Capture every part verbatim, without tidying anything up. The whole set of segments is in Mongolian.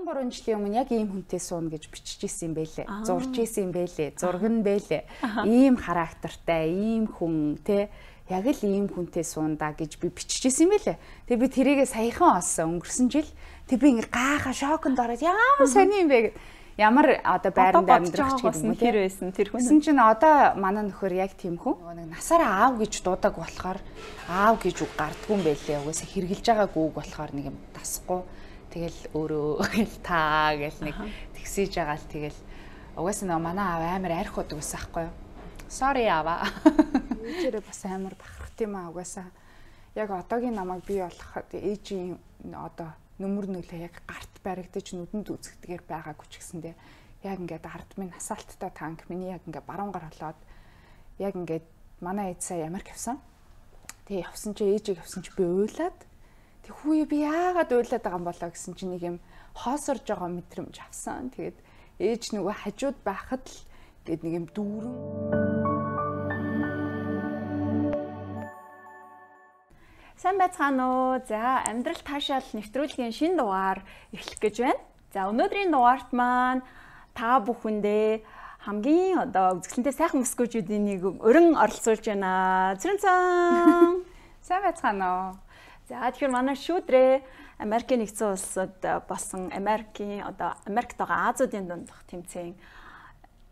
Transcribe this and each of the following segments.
deux trois жилийн өмнө яг ийм хүнтэй суuna гэж биччихсэн юм байлээ. Зурж ийсэн юм байлээ. Зураг нь байлээ. Ийм характертай, ийм хүн те яг л ийм хүнтэй суунда гэж би биччихсэн юм байлээ. Тэгээ би тэрийгээ саяхан олсон өнгөрсөн жил. Тэг би ингээ гайхаа шоконд ороод ямар сони юм бэ гэд. Ямар одоо байранд амьдрах ч гэдэг юм тэр байсан тэр хүн. Гэсэн чинь одоо манай нөхөр яг тийм хүн. Нэг насаараа аав гэж дуудаг болохоор аав гэж үг гардгүй юм байлээ. Угаасаа хэрглэж байгаагүй үг болохоор нэг юм тасахгүй. Тэгэл өөрөө гэл таа гэл нэг тэгсэж байгаа л тэгэл угаасаа нөө манай аав амар арх удаг байсан байхгүй юу? Sorry аава. Ээжээрээ бас амар бахархт юм аа угаасаа. Яг одоогийн намайг бий болгоход ээжийн одоо нүмер нөлөө яг гарт баригдаж нүдэнд үзэгдэгээр байгаагүй ч гэсэндээ яг ингээд ард минь асаалттай танк миний яг ингээд баруун гар холоод яг ингээд манай ээж сая Америк явсан. Тэгээ явсан чи ээжийг явсан чи би уйлаад тэг хүүе би яагаад уйлаад байгаа юм болоо гэсэн чи нэг юм хоосорж байгаа мэдрэмж авсан. Тэгээд ээж нөгөө хажууд байхад л гээд нэг юм дүүрэн Сайн байцгаана уу. За, амьдрал таашаал нэвтрүүлгийн шинэ дугаар эхлэх гэж байна. За, өнөөдрийн дугаарт маань та бүхэндээ хамгийн одоо үзэсгэлэнтэй сайхан мөсгөөжүүдийн нэг өрн оролцуулж байна. Цэрэнцэн. Сайн байцгаана уу. За, тэгэхээр манай шүүдрээ Америкийн нэгдсэн улсад болсон Америкийн одоо Америкт байгаа Азиудын дундх тэмцээн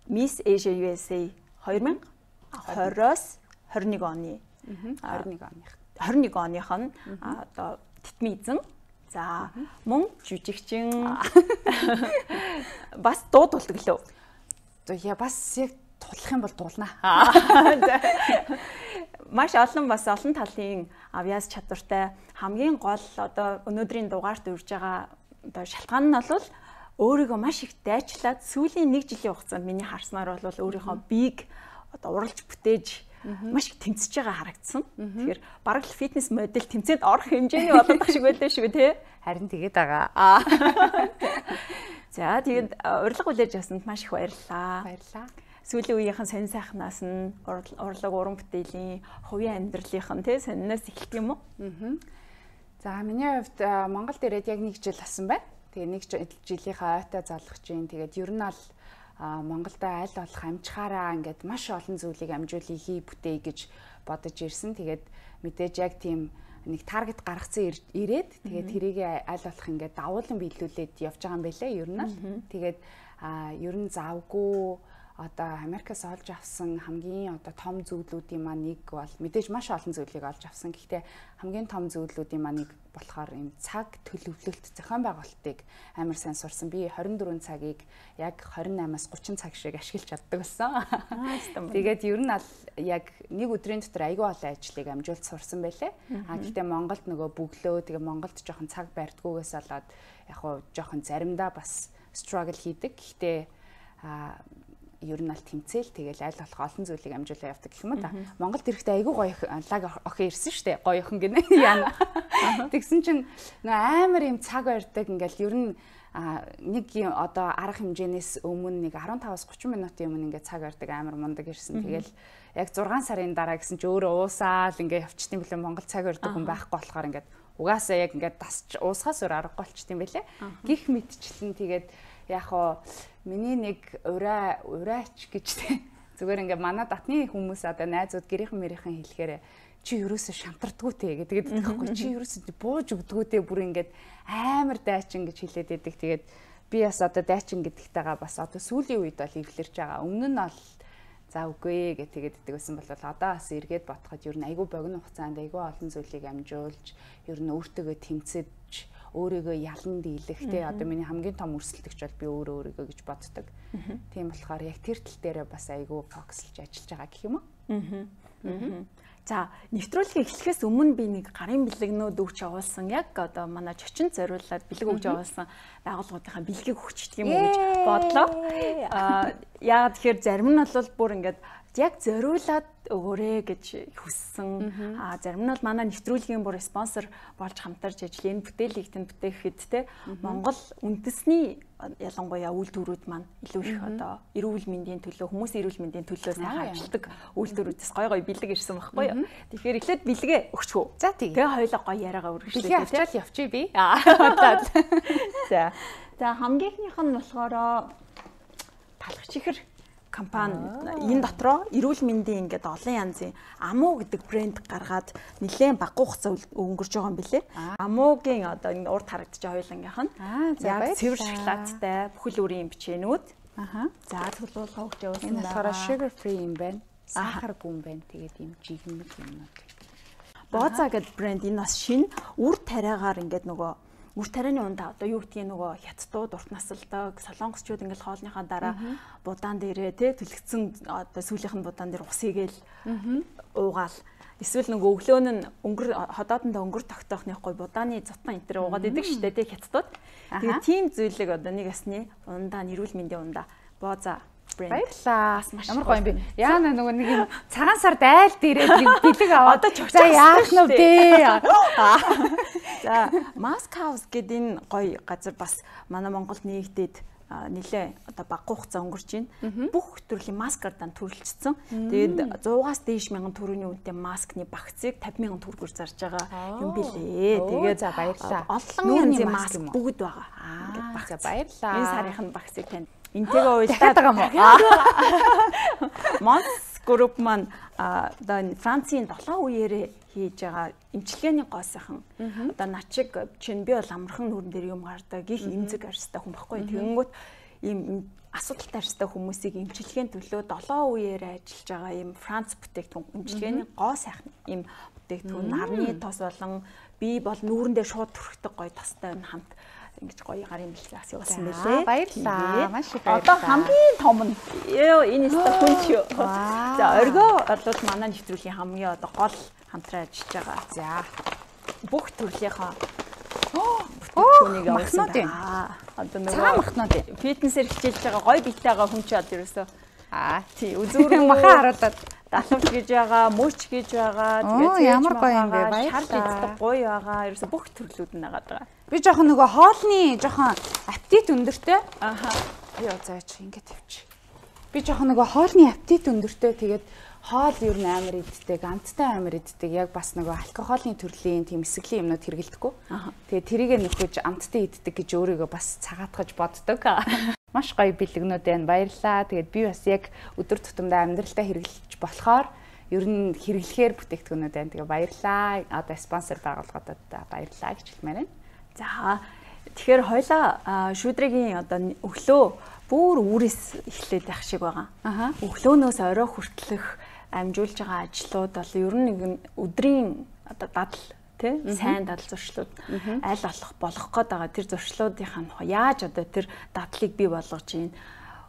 Miss Asia ю эс эй twenty twenty-оос twenty-one оны twenty-one оных twenty-one оных нь одоо титмийн эзэн. За мөн жүжигчин бас дуудулдаг лөө. За яа бас яг тудлах юм бол дуулнаа. Маш олон бас олон талын авьяас чадвартай хамгийн гол одоо өнөөдрийн дугаарт урьж байгаа одоо шалтгаан нь бол өөрийгөө маш их дайчлаад сүүлийн нэг жилийн хугацаанд миний харснаар бол өөрийнхөө биег одоо уралж бүтээж маш их тэмцэж байгаа харагдсан. Тэгэхээр бараг л фитнес модель тэмцээнд орох хэмжээний болдог шиг байлаа шүү тий. Харин тэгээд байгаа. За тэгээд урилга хүлээж авсанд маш их баярлалаа. Баярлалаа. Сүүлийн үеийнхэн сонин сайхнаас нь урлаг уран бүтээлийн хувийн амьдралынх нь тий сониноос эхэлдэг юм уу? Аа. За миний хувьд Монголд ирээд яг нэг жил болсон байна. Тэгээ нэг жилийнхаа ойтой залгах чинь тэгээд ер нь аль Монголда аль болох амжихаараа ингээд маш олон зүйлийг амжуулъя хий бүтээе гэж бодож ирсэн. Тэгээд мэдээж яг тийм нэг таргет гаргацсан ирээд тэгээд тэрийг аль болох ингээд давуулан биелүүлээд явж байгаа юм байлээ ер нь. Тэгээд ер нь завгүй одоо Америкаас олж авсан хамгийн одоо том зүйлүүдийн маань нэг бол мэдээж маш олон зүйлийг олж авсан. Гэхдээ хамгийн том зүйлүүдийн маань нэг болохоор юм цаг төлөвлөлт зохион байгуулалтыг амар сайн сурсан. Би twenty-four цагийг яг twenty-eight-аас thirty цаг шиг ашиглаж чаддаг болсон. Тэгээд ер нь аль яг нэг өдрийн дотор аягүй олон ажлыг амжуулж сурсан байлээ. А гэхдээ Монголд нөгөө бөглөө тэгээ Монголд жоохон цаг барьдгүйгээс болоод яг хуу жоохон заримдаа бас struggle хийдэг. Гэхдээ а ер нь аль тэмцээл тэгэл аль болох олон зүйлийг амжуулаа явдаг гэх юм да. Монголд ирэхдээ айгүй гоё лаг охин ирсэн штэ. Гоё охин гинэ. Яна. Тэгсэн чинь нөө амар юм цаг барьдаг ингээл ер нь нэг одоо арга хэмжээнээс өмнө нэг fifteen-аас thirty минутын өмнө ингээд цаг барьдаг амар мундаг ирсэн. Тэгэл яг six сарын дараа гэсэн чи өөрөө уусаал ингээд явчихсан билээ Монгол цаг барьдаг хүн байхгүй болохоор ингээд угаасаа яг ингээд дасч уусгаас өөр аргагүй болчихсон байлээ. Гих мэдчлэн тэгээд яг хоо миний нэг ураа ураач гэж зүгээр ингээ манай татны хүмүүс одоо найзууд гэрийнхэн мэрийнхэн хэлэхээр чи юусоо шантардггүй те гэдэг тэгэхгүй чи юусоо бууж өгдгүү те бүр ингээд амар дайчин гэж хэлээд байдаг. Тэгээд би бас одоо дайчин гэдэгтэйгээ бас одоо сүүлийн үед бол эвлэрч байгаа. Өмнө нь бол за үгүй гэж тэгээд иддэг байсан бол одоо бас эргээд бодоход ер нь айгүй богино хугацаанд айгүй олон зүйлийг амжуулж ер нь өөртөө тэмцэж өөрийгөө ялан дийлэх те одоо миний хамгийн том өрсөлдөгч бол би өөрөө өөрийгөө гэж боддог. Тийм болохоор яг тэр тал дээрээ бас айгүй фокуслж ажиллаж байгаа гэх юм уу? Аа. За, нэвтрүүлгийг эхлэхээс өмнө би нэг гарын бэлэгнүүд өгч явуулсан яг одоо манай чочинд зориулаад бэлэг өгч явуулсан байгууллагуудынхаа бэлгийг өгчдөг юм уу гэж бодлоо. Аа, яагаад тэгэхээр зарим нь бол бүр ингээд яг зориулаад өгөөрэй гэж хүссэн. Аа зарим нь бол манай нэвтрүүлгийн бүр спонсор болж хамтарч ажил энэ бүтээлийг тэнд бүтээхэд те Монгол үндэсний ялангуяа үйлдвэрүүд маань илүү их одоо эрүүл мэндийн төлөө хүмүүсийн эрүүл мэндийн төлөө сайхан ажилладаг үйлдвэрүүдээс гой гой бэлэг ирсэн байхгүй юу. Тэгэхээр эхлээд бэлгээ өгчхүү. За тэгээ. Тэгээ хоёлоо гоё яриагаа үргэлжлүүлээ. Тэгээ авчаал явчих би. За. За хамгийн ихнийх нь болохоор талах чихэр компани энэ дотроо эрүүл мэндийн ингээд олон янзын Амуу гэдэг брэнд гаргаад нэлээд бага хугацаа өнгөрч байгаа юм билэ. Амуугийн одоо энэ урд харагдаж байгаа хоёулангийнх нь яг цэвэр шоколадтай бүхэл бүрийн бичээнүүд. Аха. За төлөвлөгөө өгч явуулсан. Энэ болохоор sugar free юм байна. Сахаргүй юм байна. Тэгээд юм жигмэг юмнууд. Бооза гэдэг брэнд энэ бас шинэ үр тариагаар ингээд нөгөө үр тарианы ундаа одоо юу гэдгийг нөгөө хятадууд урт насалдаг солонгосчууд ингээл хоолныхаа дараа будаан дээрээ те түлхсэн одоо сүүлийнх нь будаан дээр ус игээл уугаал эсвэл нөгөө өглөөн нь өнгөр ходоодонд өнгөр тогтоохныхгүй будааны зутан энэ төр уугаад идэг штэ те хятадууд. Тэгээ тийм зүйлийг одоо нэг ясны ундаа нэрүүл мэндийн ундаа бооза баярлаа. Ямар гоё юм бэ? Яана нөгөө нэг юм цагаан сард айл дээрээ нэг бэлэг аваад за яах нь вэ? За Mask House гэдэг энэ гоё газар бас манай Монголд нэгдээд нэлээ одоо бага хугацаа өнгөрч байна. Бүх төрлийн маскардан төрөлжсөн. Тэгээд суугаас дээш мянган төгрөгийн үнэтэй маскны багцыг тавьж мянган төгрөгөөр зарж байгаа юм билээ. Тэгээд за баярлаа. Олон янзын маск бүгд байгаа. Ингээд багц баярлаа. Энэ сарынхын багцыг танд энтэйгээ уйлдаад байгаа юм уу? Монс групп маань одоо Францын долоо үеэрээ хийж байгаа эмчилгээний гоо сайхан одоо начиг чинь би бол амархан нүрэн дээр юм гардаг их эмзэг арьстай хүн байхгүй. Тэгэнгүүт ийм асуудалтай арьстай хүмүүсийг эмчилгээний төлөө долоо үеэрээ ажиллаж байгаа ийм Франц бүтээгдэхүүн эмчилгээний гоо сайхан ийм бүтээгдэхүүн нарны тос болон би бол нүрэн дээр шууд түрхдэг гоё тостой хамт ингэж гоё гарын бэлгээс явуулсан байлээ. Баярлаа. Маш их баярлаа. Одоо хамгийн том нь ёо энэ өстө хүн ч юу. За оргоо бол манай нэвтрүүлгийн хамгийн одоо гол хамтран ажиллаж байгаа. За бүх төрлийнхөө бүтээгдэхүүнийг явуулсан байна. Одоо нөгөө цагаан махнууд фитнесээр хичээлж байгаа гоё биетэй байгаа хүн ч бол ерөөсөө аа тий үзүүрэн махан харуулаад далавч гэж байгаа, мөч гэж байгаа, тэгээд ямар гоё юм бэ? Баярлалаа. Гоё байгаа. Ерөөсө бүх төрлүүд нь нагаад байгаа. Би жоохон нөгөө хоолны жоохон аппетит өндөртэй. Аха. Яа заач ингэж тавьчих. Би жоохон нөгөө хоолны аппетит өндөртэй. Тэгээд хоол ер нь амар иддэг, амттай амар иддэг. Яг бас нөгөө алкогольны төрлийн тийм эсэглийн юмнууд хэрэглэдэггүй. Тэгээд тэрийгэ нөхөж амттай иддэг гэж өөрийгөө бас цагаатгаж боддог. Маш гоё бэлгнүүд байна. Баярлалаа. Тэгээд би бас яг өдөр тутамдаа амьдралдаа хэрэглэж болохоор ер нь хэрэглэхээр бүтээгдэхүүнүүд байна. Тэгээ баярлалаа. Одоо спонсор байгууллагуудад баярлалаа гэж хэлмээр байна. За тэгэхээр хоёлаа шүдрэгийн одоо өглөө бүр үрээс эхлээд байх шиг байгаа. Өглөөнөөс орой хүртэлх амжуулж байгаа ажлууд бол ер нь нэг өдрийн одоо дадал тий сайн дадал зуршлууд аль болох болох гээд байгаа. Тэр зуршлуудынхаа яаж одоо тэр дадлыг бий болгож ийн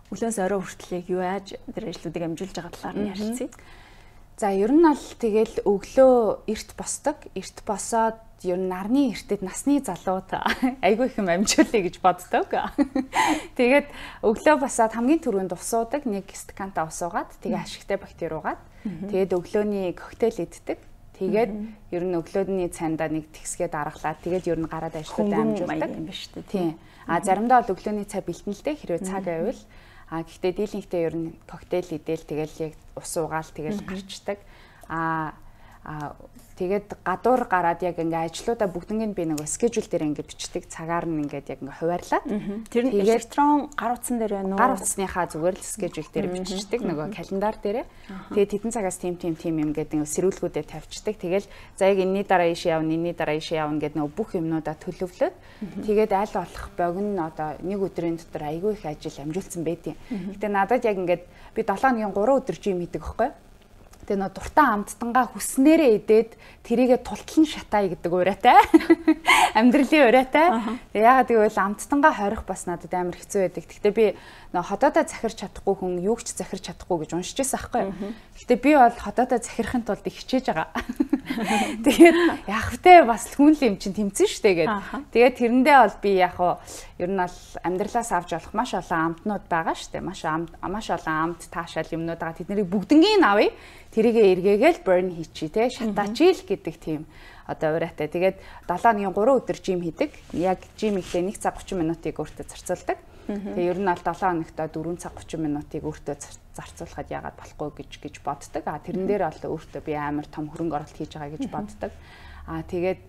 өглөөс орой хүртэлийг юу яаж тэр ажлуудыг амжуулж байгаа талаар нь ярилцъя. За ер нь бол тэгэл өглөө эрт босдог. Эрт босоод ер нь нарны эртэд насны залууд айгүй их юм амжуулъя гэж боддог. Тэгээд өглөө босоод хамгийн түрүүнд ус уудаг, нэг стаканта ус уугаад, тэгээ ашигтай бактери уугаад, тэгээд өглөөний коктейл иддэг. Тэгээд ер нь өглөөний цайндаа нэг тэгсгээд аргалаад, тэгээд ер нь гараад ажлуудаа амжуулдаг юм ба шүү дээ. Тийм. А заримдаа бол өглөөний цай бэлтэн л дээ, хэрвээ цаг байвал. А гэхдээ дийлэнхтэй ер нь коктейл идэл тэгэл яг ус уугаал тэгэл гарчдаг. А а тэгээд гадуур гараад яг ингээ ажлуудаа бүгднийг би нөгөө скежюл дээр ингээ бичдэг, цагаар нь ингээд яг ингээ хуваарлаад. Тэр нь электрон гар утсан дээр байна уу? Гар утасныхаа зүгээр л скежюл дээр бичдэг нөгөө календар дээр. Тэгээд хэдэн цагаас тим тим тим юм гэдэг ингээ сэрүүлгүүдэд тавьчихдаг. Тэгэл за яг энэний дараа ийш явна, энэний дараа ийш явна гэдэг нөгөө бүх юмнуудаа төлөвлөөд тэгээд аль болох богино одоо нэг өдрийн дотор айгүй их ажил амжуулсан байдیں۔ Гэтэ надад яг ингээд би долоо хоногийн гурван өдөр жим хийдэг байхгүй. Тэгээ нөө дуртай амттангаа хүснээрээ идээд тэрийгэ тултлан шатаа гэдэг ураатай. Амьдралын ураатай. Тэгээ ягаад гэвэл амттангаа хорих бас надад амар хэцүү байдаг. Гэхдээ би нөө ходоодоо захирч чадахгүй хүн юу ч захирч чадахгүй гэж уншиж байсан байхгүй. Гэхдээ би бол ходоодоо захирахын тулд их хичээж байгаа. Тэгээд яг втэ бас хүн л юм чинь тэмцэн штэ гээд. Тэгээд тэрэндээ бол би яг ер нь бол амьдралаас авч болох маш олон амтнууд байгаа шүү дээ. Маш маш олон амт таашаал юмнууд байгаа. Тэднийг бүгднийг авъя. Тэрийгээ эргээгээл burn хийчи те шатаачил гэдэг тийм одоо ураатай. Тэгээд долоо хоногийн гурван өдөр жим хийдэг. Яг жим ихлэ нэг цаг гучин минутыг өөртөө зарцуулдаг. Тэгээ ер нь бол долоо хоногт дөрвөн цаг гучин минутыг өөртөө зарцуулахад яагаад болохгүй гэж гэж боддог. А тэрэн дээр бол өөртөө би амар том хөрөнгө оруулалт хийж байгаа гэж боддог. А тэгээд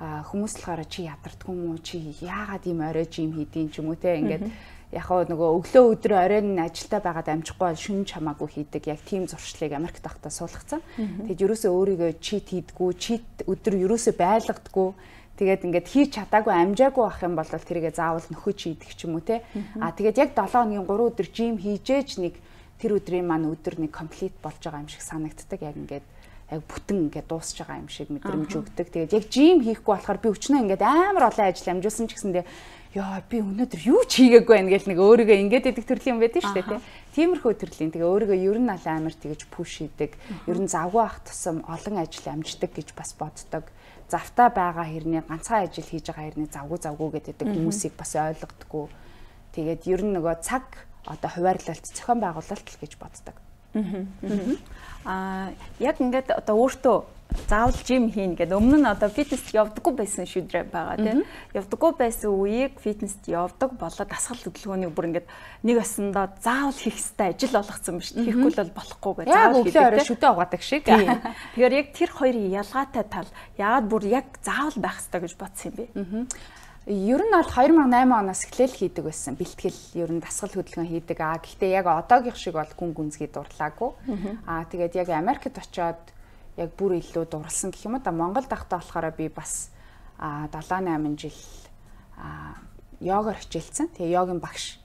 хүмүүс болохоор чи ядардгүй юм уу? Чи яагаад ийм орой жим хийдин ч юм уу те ингээд яг нөгөө өглөө өдөр оройн ажилдаа байгаад амжихгүй бол шүн чамаагүй хийдэг. Яг тийм зуршлыг Америкт тахтаа суулгацсан. Тэгэд ерөөсөө өөрийгөө чит хийдгүү, чит өдөр ерөөсөө байлгадаггүй. Тэгээд ингээд хийж чадаагүй амжаагүй ах юм бол тэрийгээ заавал нөхөж хийдэг ч юм уу те. А тэгээд яг долоо хоногийн гурван өдөр жим хийжээж нэг тэр өдрийн маань өдөр нэг комплит болж байгаа юм шиг санагддаг. Яг ингээд яг бүтэн ингээд дуусж байгаа юм шиг мэдрэмж өгдөг. Тэгээд яг жим хийхгүй болохоор би өчнөө ингээд амар олон ажил амжуулсан ч гэсэндээ яа би өнөөдөр юу ч хийгээгүй байх гэл нэг өөрийгөө ингээд идэх төрлийн юм байдаг шүү дээ тийм. Тиймэрхүү төрлийн. Тэгээ өөрийгөө ер нь аль амар тэгэж пуш хийдэг. Ер нь завгүй ах тусам олон ажил амждаг гэж бас боддог. Завтаа байгаа хэрний ганцхан ажил хийж байгаа хэрний завгүй завгүй гэдэг хүмүүсийг бас ойлгодоггүй. Тэгээд ер нь нөгөө цаг одоо хуваарлалт зохион байгуулалт гэж боддог. Аа яг ингээд одоо өөртөө заавал жим хийн гэдэг өмнө нь одоо фитнест явдаггүй байсан шүдрэ байгаа тийм. Явдаггүй байсан үеийг фитнест явдаг болоод дасгал хөдөлгөөнийг бүр ингээд нэг осондоо заавал хийх хэрэгтэй ажил болгоцсон биш. Хийхгүй л болохгүй гэж заавал хийдэг. Яг өглөө шүдэ угаадаг шиг. Тэгэхээр яг тэр хоёрын ялгаатай тал яагаад бүр яг заавал байх хэрэгтэй гэж бодсон юм бэ? Ер нь бол хоёр мянга и осм оноос эхлээл хийдэг байсан. Бэлтгэл ер нь дасгал хөдөлгөөн хийдэг. Аа гэхдээ яг одоогийнх шиг бол гүн гүнзгий дурлаагүй. Аа тэгээд яг Америкт очиод яг бүр илүү дурлсан гэх юм уу да. Монголд ахтаа болохоор би бас аа долоо найман жил аа йогоор хичээлсэн. Тэгээ йогийн багш.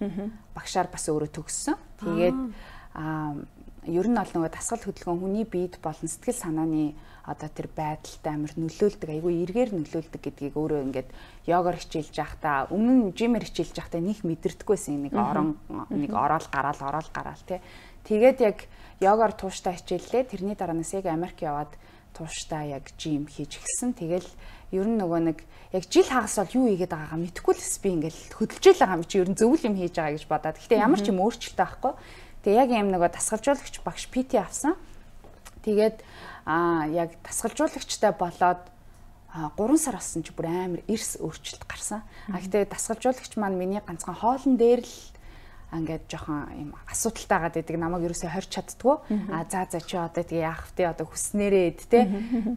Багшаар бас өөрөө төгссөн. Тэгээд аа ер нь бол нөгөө дасгал хөдөлгөөн хүний биед болон сэтгэл санааны одоо тэр байдалтай амар нөлөөлдөг, айгүй эргээр нөлөөлдөг гэдгийг өөрөө ингээд йогоор хичээлж байхдаа өмнө нь жимээр хичээлж байхдаа нэг мэдэрдэггүйсэн нэг орон нэг ороод гараал ороод гараал тий. Тэгээд яг йогоор тууштай хичээллээ. Тэрний дараанаас яг Америк яваад тууштай яг жим хийж эхэлсэн. Тэгэл ер нь нөгөө нэг яг жил хагас бол юу хийгээд байгаагаа мэдэхгүй л би ингээд хөдөлжөөл байгаа юм чи ер нь зөвл юм хийж байгаа гэж бодоод. Гэхдээ ямар ч юм өөрчлөлт байхгүй. Тэгээ яг юм нөгөө дасгалжуулагч багш пи ти авсан. Тэгээд аа яг дасгалжуулагчтай болоод гурван сар болсон чи бүр амар эрс өөрчлөлт гарсан. А гэтээ дасгалжуулагч маань миний ганцхан хоолн дээр л ингээд жоохон юм асуудалтай байгаад байдаг. Намайг ерөөсөй хорч чаддгүй. А за за чи одоо тэгээ яах вэ? Одоо хүснээрээ эд те.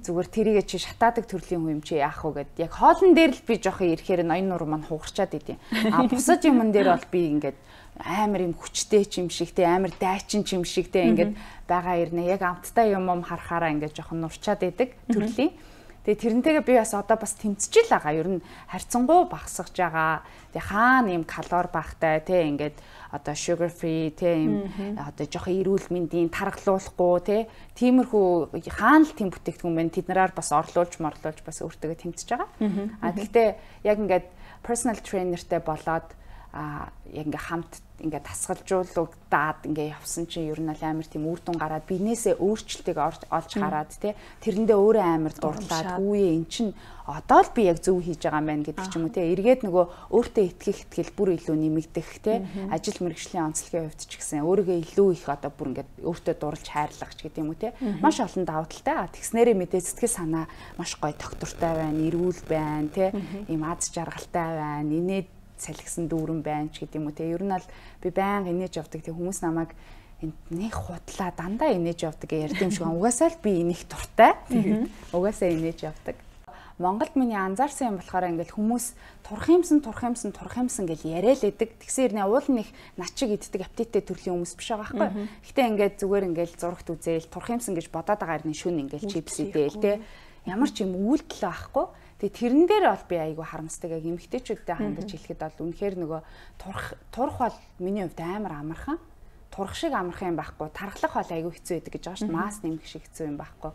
Зүгээр тэрийгээ чи шатаадаг төрлийн хүн юм чи яах вэ гэд. Яг хоолн дээр л би жоохон ирэхээр ноён нур маань хугарчаад идэв. А бусад юмн дээр бол би ингээд амар юм хүчтэй ч юм шигтэй амар дайчин ч юм шигтэй ингээд байгаа ирнэ. Яг амттай юм юм харахаараа ингээд жоохон нурчаад идэг төрлийн. Тэгээ тэрнтэйгээ би бас одоо бас тэмцэж л байгаа. Ер нь харьцангуй багасгаж байгаа. Тэгээ хаана юм калори багтай те ингээд одоо sugar free те юм одоо жоохон эрүүл мэндийн таргалуулахгүй те тиймэрхүү хаана л тийм бүтээгдэхүүн байна. Тэднэрээр бас орлуулж морлуулж бас өөртөө тэмцэж байгаа. А гэхдээ яг ингээд personal trainerтэй болоод а яг ингээ хамт ингээ тасгалжуулагдаад ингээ явсан чинь ер нь амар тийм үр дүн гараад бизнесээ өөрчлөлтийг олж хараад те тэрэндээ өөрөө амар дурлаад үе эн чин одоо л би яг зөв хийж байгаа юм байна гэдэг ч юм уу те эргээд нөгөө өөртөө итгэх итгэл бүр илүү нэмэгдэх те ажил мэргэжлийн онцлогийн хувьд ч гэсэн өөрийгөө илүү их одоо бүр ингээ өөртөө дурлж хайрлах ч гэдэг юм уу те маш олон давуу талтай тэгснээрээ мэдээ сэтгэл санаа маш гоё доктортай байна эрүүл байна те ийм аз жаргалтай байна инээд салхисан дүүрэн байна ч гэдэг юм уу те ер нь бол би байнга инээж явдаг те хүмүүс намайг нэг худлаа дандаа инээж явдаг ярьд юм шиг угаасаа л би инех дуртай угаасаа инээж явдаг. Монголд миний анзаарсан юм болохоор ингээл хүмүүс турх юмсан турх юмсан турх юмсан гэж яриа л эдэг. Тэгсэн хэрнээ уул нь их начиг иддэг аппетиттэй төрлийн хүмүүс биш байгаа байхгүй. Гэхдээ ингээд зүгээр ингээл зурагт үзээл турх юмсан гэж бодоод байгаа хэрний шүн ингээл чипс идээл те ямар ч юм үйлдэл байхгүй. Тэгээ тэрэн дээр бол би айгүй харамсдаг яг эмэгтэйчүүдтэй хандаж хэлэхэд бол үнэхээр нөгөө турх турх бол миний хувьд амар амархан. Турх шиг амархан юм байхгүй. Тархлах бол айгүй хэцүү байдаг гэж байгаа шүү дээ. Мас нэмэх шиг хэцүү юм байхгүй.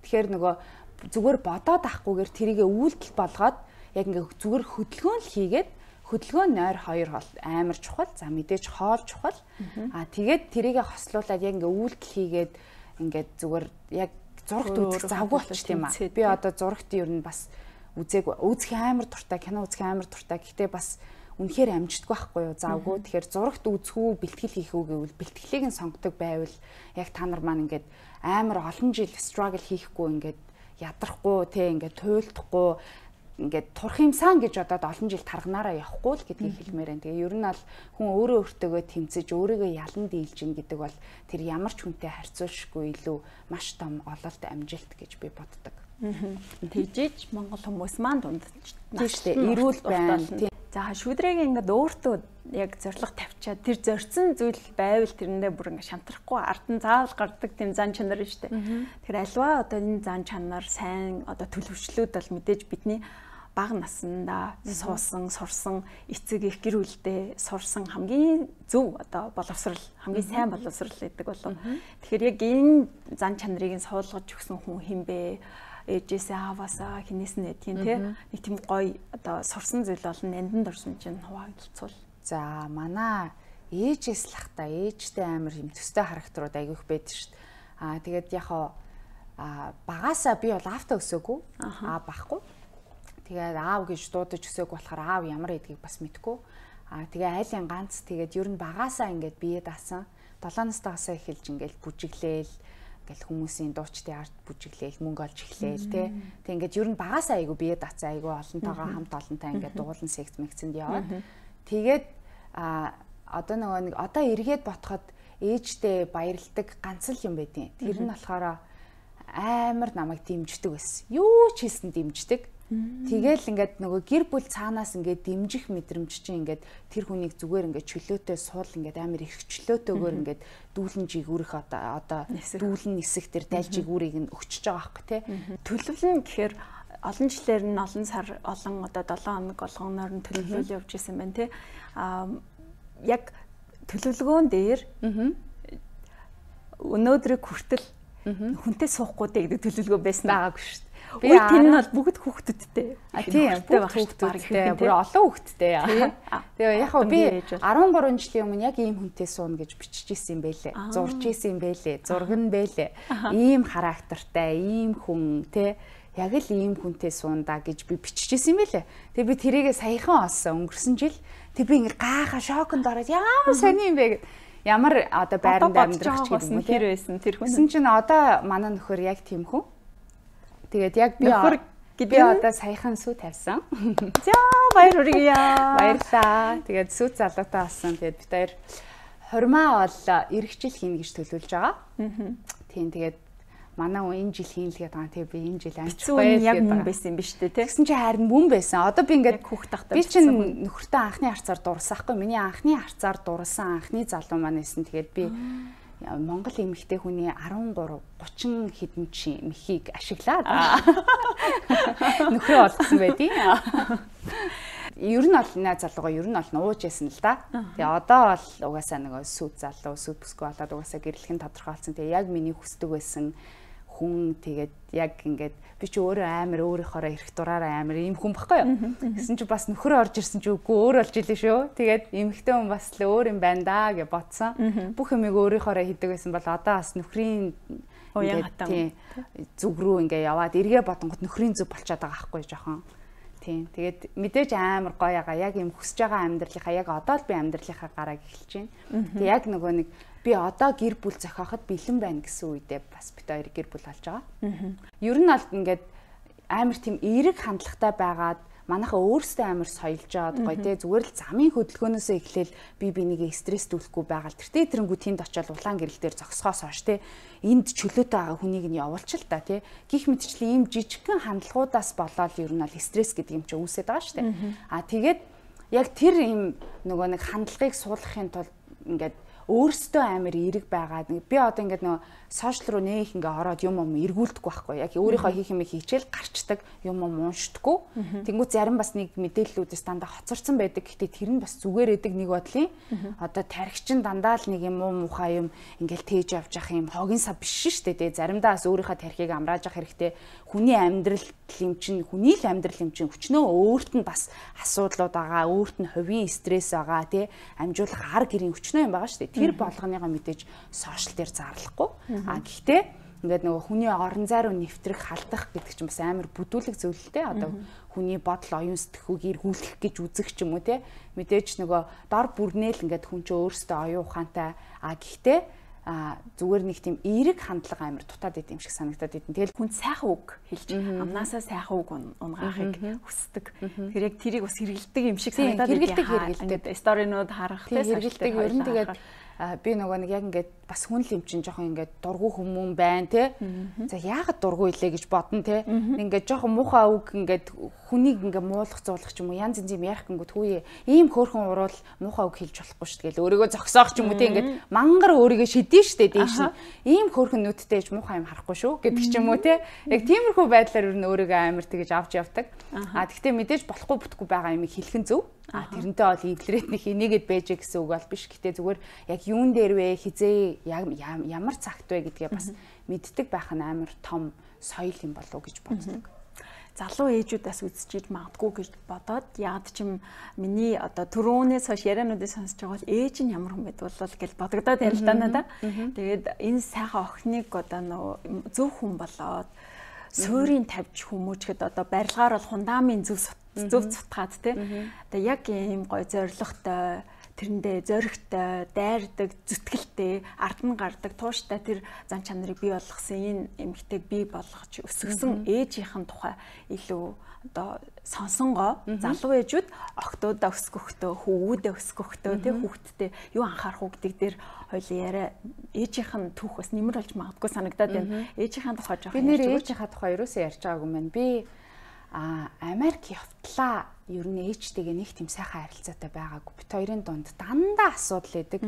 Тэгэхээр нөгөө зүгээр бодоод ахгүйгээр тэрийгэ үйлдэл болгоод яг ингээ зүгээр хөдөлгөөн л хийгээд хөдөлгөөн нойр хоёр хол амар чухал. За мэдээж хоол чухал. Аа тэгээд тэрийгэ хослуулаад яг ингээ үйлдэл хийгээд ингээ зүгээр яг зурагт үзэх завгүй болчих тийм аа. Би одоо зурагт ер нь бас үзег үзэх амар дуртай кино үзэх амар дуртай гэхдээ бас үнэхээр амждаггүй байхгүй юу? Завгүй. Тэгэхээр зурагт үзэхүү, бэлтгэл хийх үү гэвэл бэлтгэлийг нь сонгодог байвал яг та нар маань ингээд амар олон жил struggle хийхгүй ингээд ядрахгүй те ингээд туйлдахгүй ингээд турх юмсан гэж бодоод олон жил тарганаараа явахгүй л гэдгийг хэлмээр байна. Тэгээ ер нь бол хүн өөрөө өөртөөгөө тэмцэж өөрийгөө ялан дийлж гин гэдэг бол тэр ямар ч хүнтэй харьцуулшгүй илүү маш том ололт амжилт гэж би боддог. Тэгжиж Монгол хүмүүс маань дунд тийм шүү дээ. Эрүүл байна. Тийм. За шүүдрэг ингээд өөртөө яг зориг тавьчаад тэр зорьсон зүйл байвал тэрэндээ бүр ингээд шантрахгүй ард нь заавал гардаг тийм зан чанар шүү дээ. Тэр альва одоо энэ зан чанар сайн одоо төлөвчлүүд бол мэдээж бидний бага наснда суусан, сурсан, эцэг их гэр бүлдээ сурсан хамгийн зөв одоо боловсрал, хамгийн сайн боловсрал гэдэг болов. Тэгэхээр яг энэ зан чанарыг нь суулгаж өгсөн хүн хинбэ? Ээжээсээ аваасаа хинээс нь эдгийн тий нэг тийм гоё одоо сурсан зүйл бол нанданд орсон чинь хуваалцвал. За манай ээжээс л хата ээжтэй амар юм төстэй характерууд айгүйх байдаг шүү дээ. Аа тэгээд яг аа багаасаа би бол аавтаа өсөөгүй аа бахгүй. Тэгээд аав гэж дуудаж өсөөг болохоор аав ямар эдгийг бас мэдгүй. Аа тэгээ айлын ганц тэгээд ер нь багаасаа ингээд бие даасан. долоо настайгасаа эхэлж ингээд бүжиглээл гэл хүмүүсийн дуучдын арт бүжиглээл мөнгө олж эхлээл тий. Тэг ингээд ер нь багаасаа айгу бие даацаа айгу олонтойгоо хамт олонтой ингээд дуулан секц мэгцэнд яваад. Тэгээд а одоо нөгөө нэг одоо эргээд ботход ээжтэй баярладаг ганц л юм байдیں۔ Тэр нь болохоор амар намайг дэмждэг байсан. Юу ч хийсэн дэмждэг. Тэгэл ингээд нөгөө гэр бүл цаанаас ингээд дэмжих мэдрэмж чинь ингээд тэр хүнийг зүгээр ингээд чөлөөтэй суул ингээд амар их чөлөөтэйгээр ингээд дүүлэн жигүүрэх одоо одоо дүүлэн нисэх тэр дайл жигүүрийг нь өгчөж байгаа байхгүй тий. Төлөвлөн гэхээр олон жилээр нь олон сар олон одоо долоон хоног болгоноор нь төлөвлөл явж исэн байна тий. Аа яг төлөвлөгөөн дээр өнөөдрийг хүртэл хүнтэй суухгүй гэдэг төлөвлөгөө байсан байгаагүй шүү дээ. Би энэ бол бүгд хүүхдүүдтэй. А тийм бүгд хүүхдүүдтэй. Бүр олон хүүхдтэй. Тэгээ яг би арван гурван жилийн өмнө яг ийм хүнтэй сууна гэж бичиж исэн юм байлээ. Зурж исэн юм байлээ. Зураг нь байлээ. Ийм характертай, ийм хүн те яг л ийм хүнтэй суунда гэж би бичиж исэн юм байлээ. Тэгээ би тэрийгээ саяхан олсон өнгөрсөн жил. Тэг би ингээ гайхаа шоконд ороод ямар сони юм бэ гэд. Ямар одоо байранд амьдрах ч гэдэг юм тэр байсан тэр хүн. Гэсэн чинь одоо манай нөхөр яг тийм хүн. Тэгээд яг би би одоо саяхан сүү тавьсан. За баяр хүргье. Баярлаа. Тэгээд сүү залуутай болсон. Тэгээд бид хоёр хурмаа бол эх жил хийнэ гэж төлөвлөж байгаа. Тийм тэгээд манай хүн энэ жил хийн л гэдэг байгаа. Тэгээд би энэ жил амжихгүй яг мөн байсан юм биш үү те. Тэгсэн чинь харин мөн байсан. Одоо би ингээд хүүхд тахтай би чинь нөхөртөө анхны харцаар дурласан хгүй. Миний анхны харцаар дурласан анхны залуу маань байсан. Тэгээд би Монгол эмэгтэй хүний арван гурав гучин хэдэн чи мөхийг ашиглаад нөхрөө олгосон байдیں۔ Ер нь бол наа залууга ер нь бол нууж яасан л да. Тэгээ одоо бол угаасаа нөгөө сүд залуу сүд бүсгүй болоод угаасаа гэрлэх нь тодорхойлсон. Тэгээ яг миний хүсдэг байсан хүн тэгээд яг ингээд би ч өөрөө амар өөрийнхоороо эрх дураараа амар ийм хүн баггүй юу. Гэсэн чи бас нөхөр орж ирсэн чи үгүй өөр болж илээ шүү. Тэгээд эмэгтэй хүн бас л өөр юм байна да гэж бодсон. Бүх юмыг өөрийнхоороо хийдэг байсан бол одоо бас нөхрийн ингээд зүг рүү ингээ яваад эргээ бодонгот нөхрийн зүг болчиход байгаа байхгүй жоохон. Тийм. Тэгээд мэдээж амар гоё ягаа яг юм хүсэж байгаа амьдралынхаа яг одоо л би амьдралынхаа гарааг эхэлж байна. Тэгээд яг нөгөө нэг би одоо гэр бүл зохиоход бэлэн байна гэсэн үедээ бас бит хоёр гэр бүл болж байгаа. Ер нь бол ингээд амар тийм эерэг хандлагатай байгаад манайхаа өөрсдөө амар соёлж аваад гоё те зүгээр л замын хөдөлгөөнөөс эхлээл би бинийгээ стресстүүлэхгүй байгаа л тэртээ тэрэнгүү тэнд очиод улаан гэрэл дээр зогсохоос хойш те энд чөлөөтэй байгаа хүнийг нь явуулчих л та те гих мэдчлэн ийм жижигхэн хандлагуудаас болоод ер нь бол стресс гэдэг юм чи үүсээд байгаа шүү дээ. А тэгээд яг тэр ийм нөгөө нэг хандлагыг суулгахын тулд ингээд өөрсдөө амар эерэг байгаад би одоо ингээд нөгөө сошиал руу нээх ингээ ороод юм юм эргүүлдэггүй байхгүй яг өөрийнхөө хийх юм хийчихэл гарчдаг юм юм уншдаггүй тэнгуү зарим бас нэг мэдээллүүдээс дандаа хоцорсон байдаг гэхдээ тэр нь бас зүгээр эдэг нэг бодлын одоо тархичин дандаа л нэг юм уу мухаа юм ингээл тээж явж явах юм хогийн сав биш шүү дээ заримдаа бас өөрийнхөө тархийг амрааж явах хэрэгтэй хүний амьдрал юм чинь хүний л амьдрал юм чинь өчнөө өөрт нь бас асуудлууд байгаа өөрт нь хувийн стресс байгаа тий амжуулах ар гэрийн өчнөө юм байгаа шүү дээ тэр болгоныгоо мэдээж сошиал дээр зарлахгүй а гэхдээ ингээд нөгөө хүний орон зай руу нэвтрэх, халдах гэдэг чинь бас амар бүдүүлэг зүйл л дээ. Одоо хүний бодол, оюун сэтгхүүг эргүүлэх гэж үзэх ч юм уу те. Мэдээж нөгөө дор бүрнээл ингээд хүн чинь өөрөөсөө оюун ухаантай а гэхдээ а зүгээр нэг тийм эерэг хандлага амар дутаад идэм шиг санагдаад идэв. Тэгэл хүн сайхан үг хэлж амнаасаа сайхан үг унгаахыг хүсдэг. Тэр яг тэрийг бас хэрэгэлдэг юм шиг санагдаад идэв. Хэрэгэлдэг сторинууд харах те хэрэгэлдэг ер нь тэгээд би нөгөө нэг яг ингээд бас хүн л юм чинь жоохон ингээд дургу хүмүүн байна те. За яагаад дургу илээ гэж бодно те. Ингээд жоохон муухай үг ингээд хүнийг ингээд муулах зуулах ч юм уу янз янз юм ярих гингүүд хүүе ийм хөөрхөн уруул муухай үг хэлж болохгүй шүү дээ. Өөрийгөө зогсоох ч юм уу те ингээд мангар өөрийгөө шидэн штэ дээш нь. Ийм хөөрхөн нүдтэй ээж муухай юм харахгүй шүү гэдэг ч юм уу те. Яг тиймэрхүү байдлаар ер нь өөрийгөө амар тэгэж авч явдаг. А тэгтээ мэдээж болохгүй бүтггүй байгаа юмыг хэлэх нь зөв. А тэрнтэй бол эвлэрэтнийх энийгэд байж гэсэн үг бол биш. Гэтэ зүгээр яг юун дээр вэ хизээ ямар цагт вэ гэдгээ бас мэддэг байх нь амар том соёл юм болов уу гэж боддог. Залуу ээжүүдээс үзчихэж магадгүй гэж бодоод яад ч юм миний одоо түрүүнээс хойш яриануудыг сонсож байгаа бол ээж нь ямар хүн байдг болов гэж бодогдоод байна л да надаа. Тэгээд энэ сайхан охиныг одоо нөө зөв хүн болоод суурийг тавьж хүмүүжгэд одоо барилгаар бол фундамент зөв зөв цутгаад тий. Одоо яг ийм гой зоригтой тэрэндээ зоригтой, дайрдаг, зүтгэлтэй, ард нь гардаг, тууштай тэр зан чанарыг бий болгосон энэ эмэгтэйг бий болгож өсгсөн ээжийнхэн тухай илүү одоо сонсонгоо залуу ээжүүд октоодоо өсгөхдөө, хөвгүүдээ өсгөхдөө тий хүүхдтэй юу анхаарах уу гэдэг дээр хоёул яриа ээжийнхэн түүх бас нэмэр болж магадгүй санагдаад байна. Ээжийнхэн тухай жоох би нэр ээжийнхээ тухай ерөөсөө ярьж байгаагүй мэн. Би а Америк явтлаа ер нь ээжтэйгээ нэг тийм сайхан харилцаатай байгаагүй. Бит хоёрын дунд дандаа асуудал байдаг.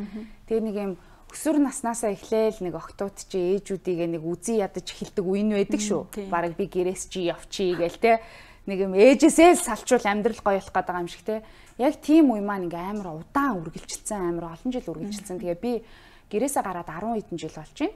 Тэгээ нэг юм өсвөр наснаасаа эхлээл нэг октод чи ээжүүдийгээ нэг үзий ядаж эхэлдэг үе нь байдаг шүү. Бараг би гэрээс чи явчий гээл те. Нэг юм ээжээсээ л салчвал амьдрал гоё болох гэдэг юм шиг те. Яг тийм үе маань ингээ амар удаан үргэлжилсэн, амар олон жил үргэлжилсэн. Тэгээ би гэрээсээ гараад арван хэдэн жил болж байна.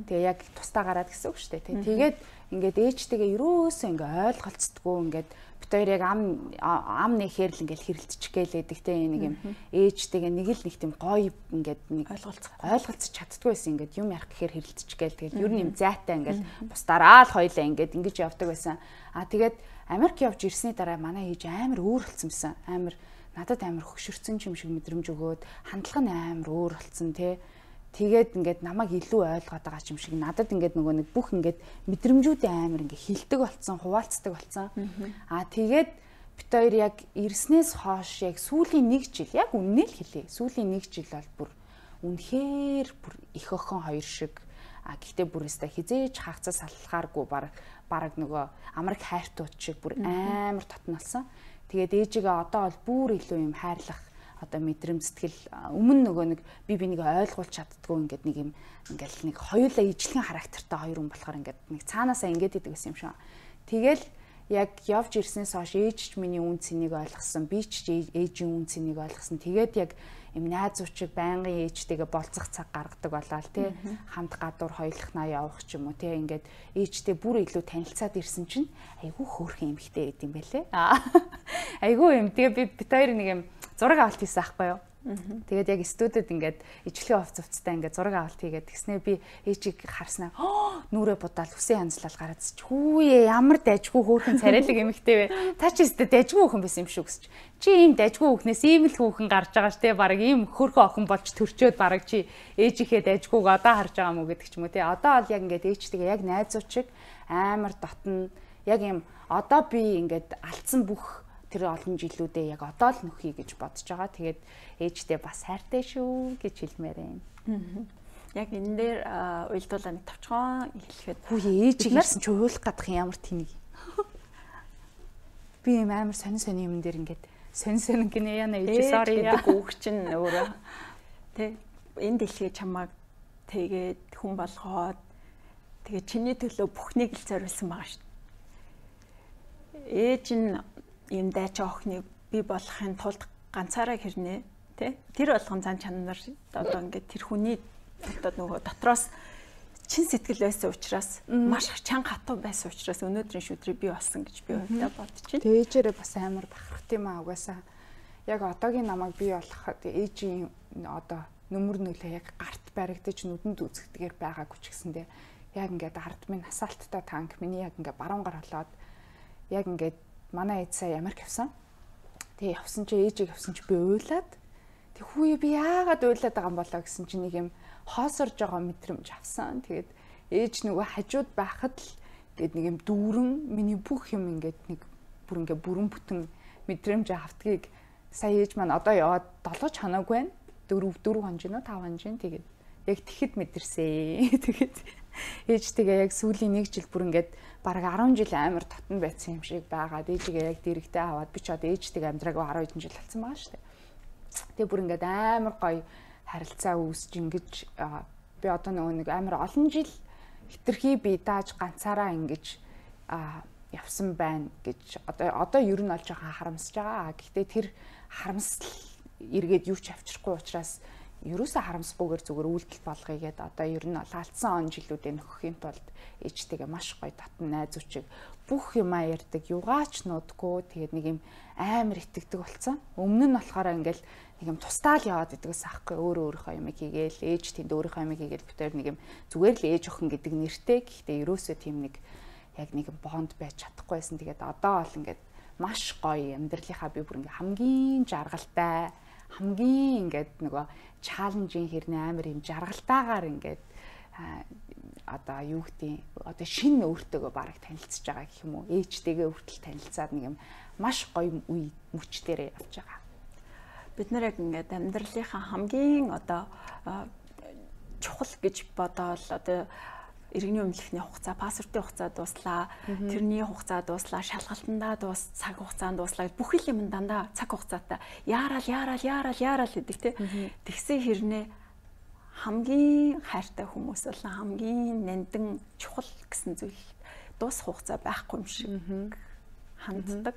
Тэгээ яг тусдаа гараад гэсэн үг шүү дээ. Тэгээд ингээд ээжтэйгээ ерөөсөө ингээ ойлголцдгоо ингээд бит хоёр яг ам ам нэхэр л ингээл хэрэлдчих гэлээдэг те нэг юм ээжтэйгээ нэг л нэг тийм гоё ингээд нэг ойлголцох ойлголцож чаддгүй байсан ингээд юм ярих гэхээр хэрэлдчих гээл тэгээд ер нь юм зайтай ингээл бусдаараа л хоёлаа ингээд ингэж явдаг байсан. А тэгээд Америк явж ирсний дараа манай ээж амар өөр болсон байсан. Амар надад амар хөшөрцөн юм шиг мэдрэмж өгөөд хандлага нь амар өөр болсон те. Тэгээд ингээд намайг илүү ойлгоод байгаа юм шиг надад ингээд нөгөө нэг бүх ингээд мэдрэмжүүдээ амар ингээд хилдэг болцсон, хуваалцдаг болцсон. Аа тэгээд бит хоёр яг ирснээс хойш яг сүүлийн нэг жил яг үннээ л хэлээ. Сүүлийн нэг жил бол бүр үнэхээр бүр их охин хоёр шиг а гэхдээ бүр өстой хизээж хаагцаа салхааргүй баг баг нөгөө амраг хайртууд шиг бүр амар татналсан. Тэгээд ээжигээ одоо бол бүр илүү юм хайрлах одоо мэдрэмж сэтгэл өмнө нөгөө нэг би бинийг ойлгуулж чаддгүй ингээд нэг юм ингээл нэг хоёулаа ижлэгэн характертай хоёр хүн болохоор ингээд нэг цаанаасаа ингээд идэг гэсэн юм шиг. Тэгэл яг явж ирснээс хойш ээж ч миний үн цэнийг ойлгосон, би ч ээжийн үн цэнийг ойлгосон. Тэгээд яг юм найз уучиг байнгын ээжтэйгээ болцох цаг гаргадаг болоод тий хамт гадуур хоёулахнаа явах ч юм уу тий ингээд ээжтэй бүр илүү танилцаад ирсэн чинь айгүй хөөрхөн эмхтэй байд юм байлээ. Айгүй юм. Тэгээ би бит хоёр нэг юм зураг авалт хийсэн аахгүй юу. Тэгээд яг студид ингээд ижлэгийн хувц хувцтай ингээд зураг авалт хийгээд тэгснээр би ээжийг харснаа нүрээ будаал хүсээ янзлал гараад хүүе ямар дайжгүй хөөрхөн царайлаг эмэгтэй вэ? Та ч өстө дайжгүй хөөрхөн байсан юм шүү гэсч. Чи ийм дайжгүй хүүхнээс ийм л хүүхэн гарч байгаа ш тэ баг ийм хөөрхөн охин болж төрчөөд баг чи ээжийнхээ дайжгүйг одоо харж байгаа мó гэдэг ч юм уу тэ. Одоо бол яг ингээд ээжтэйгээ яг найзуучиг амар дотно яг юм одоо би ингээд алдсан бүх тэр олон жилүүдээ яг одоо л нөхье гэж бодож байгаа. Тэгээд ээжтэй бас хайртай шүү гэж хэлмээр байна. Яг энэ дээр уйлдуулаа нэг товчхон хэлэхэд хүү ээж ирсэн чи уйлах гадах ямар тэнэг. Би юм амар сонин сонин юм дээр ингээд сонин сонин гинэ яна ээж sorry гэдэг үг чинь өөрөө тэ энэ дэлхий чамайг тэгээд хүн болгоод тэгээд чиний төлөө бүхнийг л зориулсан байгаа шүү. Ээж нь ийм дайч охиныг бий болохын тулд ганцаараа хэрнээ тий тэр болгон зан чанар одоо ингээд тэр хүний одоо нөгөө дотроос чин сэтгэл байсан учраас маш чанга хатуу байсан учраас өнөөдрийн шүдрийг бий болсон гэж би өөртөө бодож байна. Ээжээрээ бас амар бахархт юм аа угаасаа яг одоогийн намайг бий болгоход ээжийн одоо нүмер нөлөө яг гарт баригдаж нүдэнд үзэгдэгээр байгаагүй ч гэсэндээ яг ингээд ард минь асфальттай танк миний яг ингээд баруунгаар болоод яг ингээд манай ээж сая Америк явсан. Тэгээ явсан чи ээжийг явсан чи би уйлаад тэг хүүе би яагаад уйлаад байгаа юм болоо гэсэн чи нэг юм хоосорж байгаа мэдрэмж авсан. Тэгээд ээж нөгөө хажууд байхад л гээд нэг юм дүүрэн миний бүх юм ингээд нэг бүр ингээд бүрэн бүтэн мэдрэмж автгийг сая ээж маань одоо яваад долоо ч ханаагүй байна. дөрөв дөрөв хонжин уу тав хонжин тэгээд яг тэгэхэд мэдэрсэн. Тэгээд ээж тэгээ яг сүүлийн нэг жил бүр ингээд бараг арван жил амар татан байсан юм шиг байгаад ээжигээ яг дэрэгтэй аваад би ч одоо ээжтэйгээ амьдраагүй арван хэдэн жил болсон байгаа шүү дээ. Тэгээ бүр ингээд амар гоё харилцаа үүсэж ингэж би одоо нөгөө нэг амар олон жил хитрхи би дааж ганцаараа ингэж явсан байна гэж одоо одоо ер нь олж байгаа харамсаж байгаа. Гэхдээ тэр харамсал эргээд юу ч авчрахгүй учраас ерөөсөө харамсгүйгээр зүгээр үйлдэл болгоё гэдээ одоо ер нь алдсан он жилүүдээ нөхөхийн тулд ээжтэйгээ маш гоё татан найз үчиг бүх юмаа ярьдаг югаач нуудгүй тэгээд нэг юм амар итгэдэг болсон. Өмнө нь болохоор ингээл нэг юм тустаал яваад идэгс аахгүй өөрөө өөрийнхөө юмыг хийгээл ээж тэнд өөрийнхөө юмыг хийгээл битээр нэг юм зүгээр л ээж охин гэдэг нэртэй. Гэхдээ ерөөсөө тийм нэг яг нэг бонд байж чадахгүйсэн. Тэгээд одоо бол ингээд маш гоё амьдралынхаа би бүр ингээ хамгийн жаргалтай хамгийн ингээд нөгөө чаленжийн хэрнээ амар юм жаргалтайгаар ингээд одоо юу гэдэг одоо шинэ өөртөөгөө бараг танилцж байгаа гэх юм уу ээжтэйгээ хүртэл танилцаад нэг юм маш гоё үе мөчтөрөө явж байгаа. Бид нэр яг ингээд амьдралынхаа хамгийн одоо чухал гэж бодоол одоо иргэний өмнөхний хугацаа, паспортын хугацаа дууслаа, тэрний хугацаа дууслаа, шалгалтандаа дуус, цаг хугацаанд дууслаа. Бүх юм дандаа цаг хугацаатай. Яарал, яарал, яарал, яарал гэдэг те. Тэгсэн хэрнээ хамгийн хайртай хүмүүс болон хамгийн нандин чухал гэсэн зүйл дуус хугацаа байхгүй юм шиг ханддаг.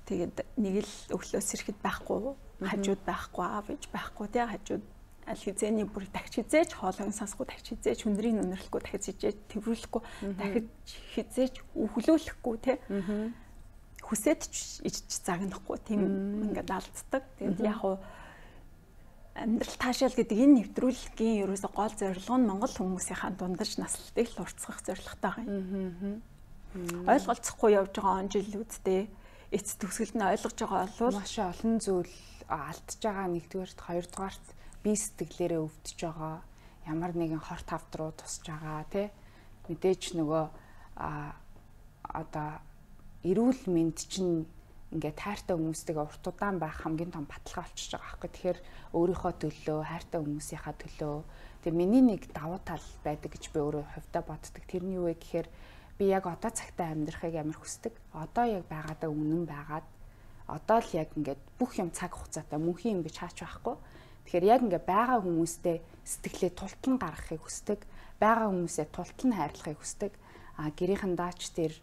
Тэгээд нэг л өглөөс ирэхэд байхгүй, хажууд байхгүй, аав ээж байхгүй те хажууд аль хизээний бүр дахиж хизээч хоолойн сонсохгүй дахиж хизээч хүндрийн өнөрлөхгүй дахиж хизээч тэрвэрлэхгүй дахиж хизээч өглөөлөхгүй те хүсээд ч ич загнахгүй тийм ингээд алддаг. Тэгээд яг хуу амьдрал таашаал гэдэг энэ нэвтрүүлгийн ерөөсө гол зорилго нь Монгол хүмүүсийнхаа дундаж наслалтыг л уртсгах зорилготой байгаа юм. Ойлголцохгүй явж байгаа он жилүүдтэй эц төгсгөлд нь ойлгож байгаа бол маш олон зүйл алдж байгаа нэгдүгээрт хоёрдугаарт бие сэтгэлээрээ өвдөж байгаа ямар нэгэн хор тавд руу тусж байгаа тий мэдээж нөгөө а одоо эрүүл мэнд чинь ингээд хайртай хүмүүстэйгээ урт удаан байх хамгийн том баталгаа болчихж байгаа байхгүй. Тэгэхээр өөрийнхөө төлөө хайртай хүмүүсийнхаа төлөө тэгээ миний нэг давуу тал байдаг гэж би өөрөө хувьдаа боддог. Тэр нь юу вэ гэхээр би яг одоо цагтаа амьдрахыг амар хүсдэг. Одоо яг байгаадаа үнэн байгаад одоо л яг ингээд бүх юм цаг хугацаатай мөнхийн юм гэж хаач байхгүй. Тэгэхээр яг ингээ байгаа хүмүүстэй сэтгэлээ тултан гаргахыг хүсдэг. Байгаа хүмүүсээ тултан хайрлахыг хүсдэг. А гэрийнхэн даач тэр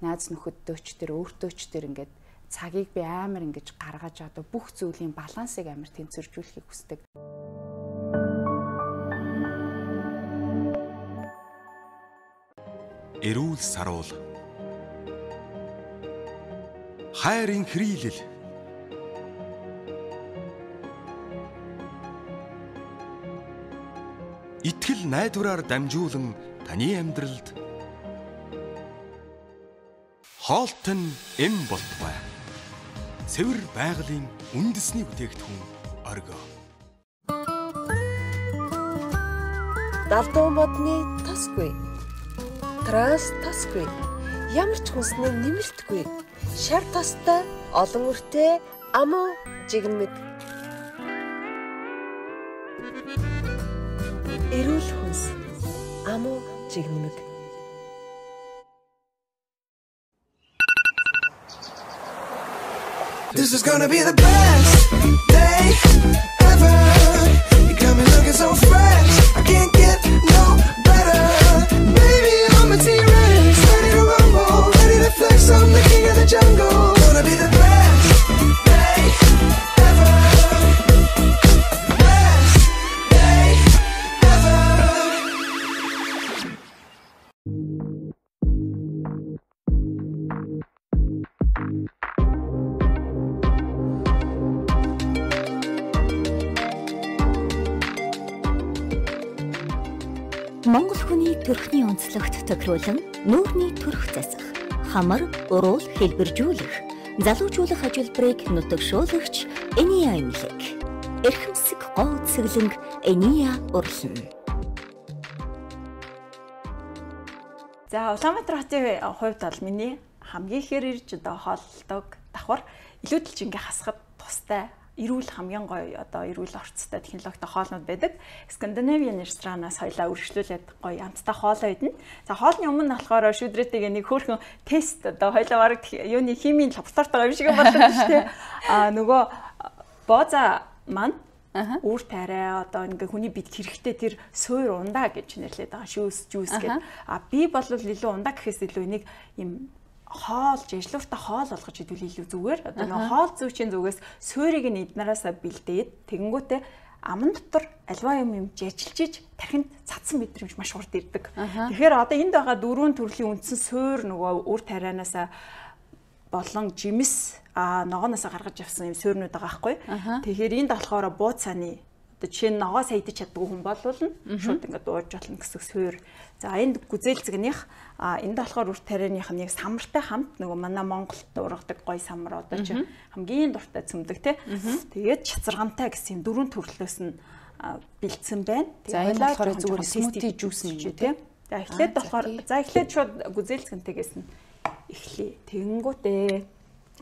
найз нөхөддөөч тэр өөртөөч тэр ингээд цагийг би амар ингэж гаргаж одоо бүх зүйлийн балансыг амар тэнцвэржүүлэхийг хүсдэг. Эрүүл саруул. Хайрын хэрэглэл. Итгэл найдвараар дамжуулан таны амьдралд хоолтон эм болтугай. Цэвэр байгалийн үндэсний бүтээгдэхүүн оргио. Далдуу модны тосгүй. Транс тосгүй. Ямар ч хүнснээ нэмэртгүй. Шар тостой олон үртэй амуу жигмэг. Эрүүл хүнс амуу жигмэг. This is gonna be the best day ever. You got me looking so fresh. I can't get no better. Baby, I'm a T-Rex, ready to rumble, ready to flex. I'm the king of the jungle. Gonna be the best day ever. Best day ever. Монгол хүний төрхний онцлогт тохируулан нүүрний төрх засах, хамар, уруул хэлбэржүүлэх, залуужуулах ажилбарыг нутагшуулагч Ения эмнэлэг. Эрхэмсэг гоо цэглэнг Ения урлан. За Улаанбаатар хотын хувьд бол миний хамгийн ихээр ирж одоо хооллдог давхар илүүдэлж ингээ хасахад тустай эрүүл хамгийн гоё одоо эрүүл орцтой технологитой хоолнууд байдаг. Скандинавийн ресторанаас хоёлаа үргэлжлүүлээд гоё амттай хоолоо идэнэ. За хоолны өмнө болохоор шүдрээтэйгээ нэг хөөрхөн тест одоо хоёлаа бараг юуны химийн лабораторитойгоо юм шиг болдог шүү дээ. Аа нөгөө бооза маань үүр тариа одоо ингээ хүний бид хэрэгтэй тэр суур ундаа гэж нэрлэдэг байгаа шүүс жүүс гэдэг. А би бол илүү ундаа гэхээс илүү энийг юм хоол жижлууртай хоол болгож идвэл илүү зүгээр. Одоо нэг хоол зүйчийн зүгээс суурийг нь эднараасаа бэлдээд тэгэнгүүтээ аман дотор альва юм юм жижилжиж тархинд цадсан мэдрэмж маш хурд ирдэг. Тэгэхээр одоо энд байгаа дөрвөн төрлийн үндсэн суур нөгөө үр тарианаасаа болон жимс а ногооноосоо гаргаж авсан юм суурнууд байгаа байхгүй. Тэгэхээр энд болохоор бууцааны одоо жишээ нь ногоо саядж чаддаг хүн болвол шууд ингээд дууж болно гэсэн суур. За энд гүзээлзгнийх а энд болохоор үр тарианых нь яг самартай хамт нөгөө манай Монголд ургадаг гой самар одоо чи хамгийн дуртай цөмдөг тий. Тэгээд чацаргантай гэсэн юм дөрвөн төрлөөс нь бэлдсэн байна. За энэ болохоор зүгээр смути жуус юм тий. За эхлээд болохоор за эхлээд шууд гүзээлзгэнтэйгээс нь эхлэе. Тэгэнгүүтээ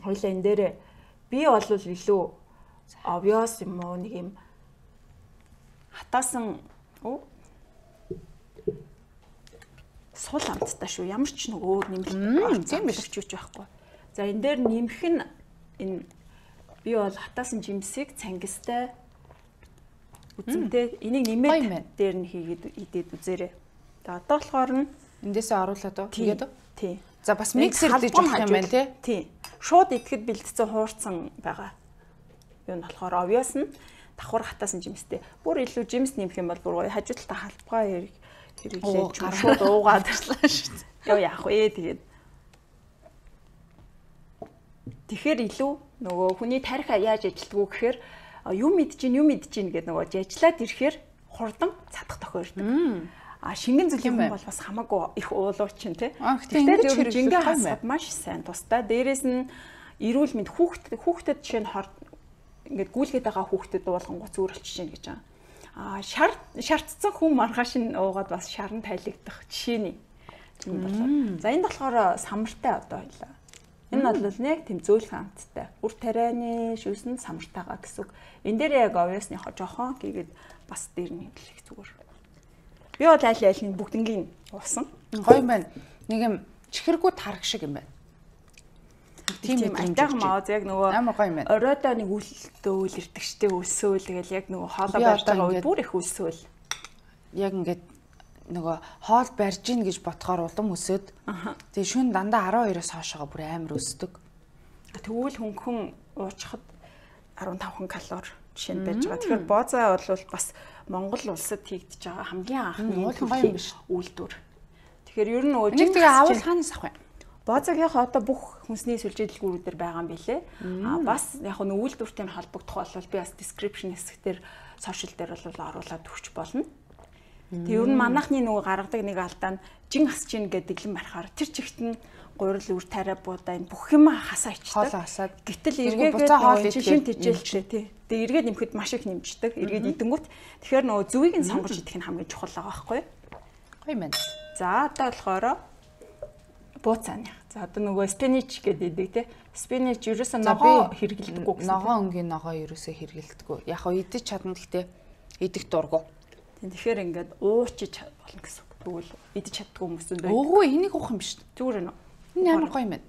хоёлаа энэ дээр би бол илүү obvious юм уу нэг юм хатаасан оо сул амттай шүү. Ямар ч нэг өөр нэмэлт тийм биш байхгүй. За энэ дээр нэмэх нь энэ би бол хатаасан жимсийг цангистай үзэмтэй энийг нэмээд дээр нь хийгээд идээд үзээрэй. За одоо болохоор нь эндээсээ оруулаад уу тэгээд үү? Тий. За бас миксер дэж болох юм байна тий. Тий. Шууд идэхэд бэлдсэн хуурцсан байгаа. Юу нь болохоор obvious нь давхар хатаасан жимстэй. Бүр илүү жимс нэмэх юм бол бүр гоё хажуу талаа халбгаа хэрэг хэрэглээд шууд уугаад ирлаа шүү дээ. Яа яах вэ тэгээд. Тэгэхээр илүү нөгөө хүний тарих яаж ажилтдаг вэ гэхээр юм мэдэж чинь юм мэдэж чинь гэдэг нөгөө ажиллаад ирэхээр хурдан цадах тохиолдог. А шингэн зүйлийн хүн бол бас хамаагүй их уулууч чинь тий. Тэгэхээр жингээ хасаад маш сайн тустай. Дээрээс нь эрүүл мэнд хүүхдэд хүүхдэд жишээ нь ингээд гүйлгээд байгаа хүүхдэд уулгангуй зүрэлч чинь гэж байгаа. А шар шаардсан хүн маргааш нь уугаад бас шарн тайлагдах жишээний юм болоо. За энд болохоор самартай одоо хоёлаа. Энэ бол нэг тийм зөөлхөн амттай. Үр тарианы шүүсэн самартайгаа гэсэн үг. Энэ дээр яг obviousныхоо жоохон гээд бас дээр нь хэлэх зүгээр. Би бол аль альны бүгднгийн уусан. Гоё юм байна. Нэг юм чихэргүй тарах шиг юм байна. Тийм айтайхан мааз яг нөгөө амар гоё юм байна. Оройдоо нэг үлдөө үл ирдэгчтэй өсөөл тэгэл яг нөгөө хоолоо барьж байгаа үе бүр их өсөөл. Яг ингээд нөгөө хоол барьж гин гэж ботхоор улам өсөд. Тэгээ шүн дандаа арван хоёроос хоошоо бүр амар өсдөг. Тэгвэл хөнгөн уучхад арван тавхан калори жишээ нь байж байгаа. Тэгэхээр боозаа бол бас Монгол улсад хийгдэж байгаа хамгийн анхны гоё юм биш үйлдвэр. Тэгэхээр ер нь нөгөө нэг тэгээ авал хаанаас авах вэ? Боозаагийнхаа одоо бүх хүнсний сүлжээдэлгүүрүүдээр байгаа юм билэ. А бас яг нь үйлдвэртэй холбогдох бол би бас description хэсгээр сошиал дээр бол оруулаад өгч болно. Тэг ер нь манайхны нөгөө гаргадаг нэг алдаа нь жин хасж ийн гэдэг дэлэн барихаар тэр чигт нь гурил үр тариа буудаа энэ бүх юм хасаа ичдэг. Хоол хасаад. Гэтэл эргээгээд нөгөө шин тижээлтэй тий. Тэг эргээд нэмэхэд маш их нэмждэг. Эргээд идэнгүүт тэгэхээр нөгөө зүвийг нь сонгож идэх нь хамгийн чухал байгаа байхгүй юу? Гоё юм байна. За одоо болохоор бууцааны. За одоо нөгөө спинич гэдэг идэг тий. Спинич ерөөсөө ногоо хэрэглэдэггүй гэсэн. Ногоо өнгийн ногоо ерөөсөө хэрэглэдэггүй. Яг хоо идэж чадна гэхдээ идэх дургу. Тэгэхээр ингээд уучиж болно гэсэн үг. Тэгвэл идэж чаддгүй хүмүүс нь байна. Өөгүй энийг уух юм биш. Зүгээр нэ. Энэ амар гоё юм байна.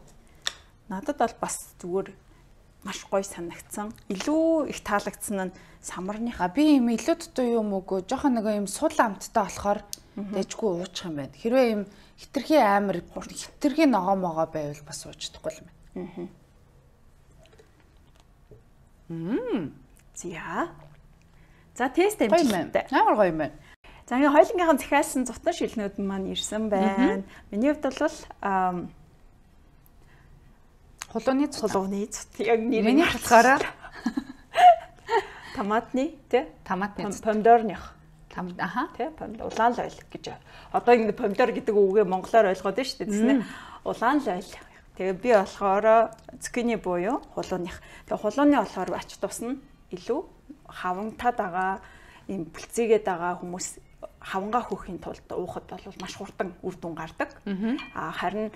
Надад бол бас зүгээр маш гоё санагдсан. Илүү их таалагдсан нь самарныхаа. Би юм илүү дутуу юм үгүй. Жохон нэг юм сул амттай болохоор дэжгүй уучих юм байна. Хэрвээ юм хитрхи амар хитрхи ногоо могоо байвал бас уучдахгүй юм байна. Мм. За. За тест амжилттай. Амар гоё юм байна. За ингээ хоёлынгийнхан захиалсан зутар шилнүүд маань ирсэн байна. Миний хувьд бол хулууны хулууны цут яг нэр миний болохоор томатны тий томатны помидорных Аха. Тэ помидор улаан л ойл гэж. Одоо ингэ помидор гэдэг үгээ монголоор ойлгоод байна шүү дээ тийм ээ. Улаан л ойл. Тэгээ би болохоор цукини буюу хулууных. Тэгээ хулууны болохоор ач тус нь илүү хавантад байгаа ийм бүлцээгээд байгаа хүмүүс хавангаа хөөхийн тулд уухад бол маш хурдан үр дүн гардаг. А харин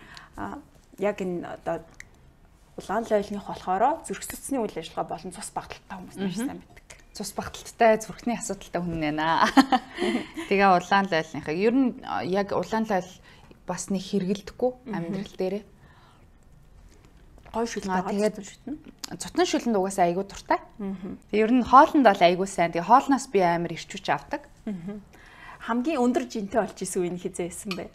яг энэ одоо улаан л ойлных болохоор зүрх судасны үйл ажиллагаа болон цус багталтай хүмүүс маш сайн мэддэг. Цус багталттай зүрхний асуудалтай хүн байна. Тэгээ улаан л ойлныхаа ер нь яг улаан л ойл бас нэг хэрэгэлдэхгүй амьдрал дээрээ. Гой шүлтэй тэгээд цутан шүлэнд угаасаа айгүй дуртай. Ер нь хоолнд бол айгүй сайн. Тэгээ хоолноос би амар ирчүүч авдаг. Хамгийн өндөр жинтэй болж исэн үе нь хизээ исэн бэ?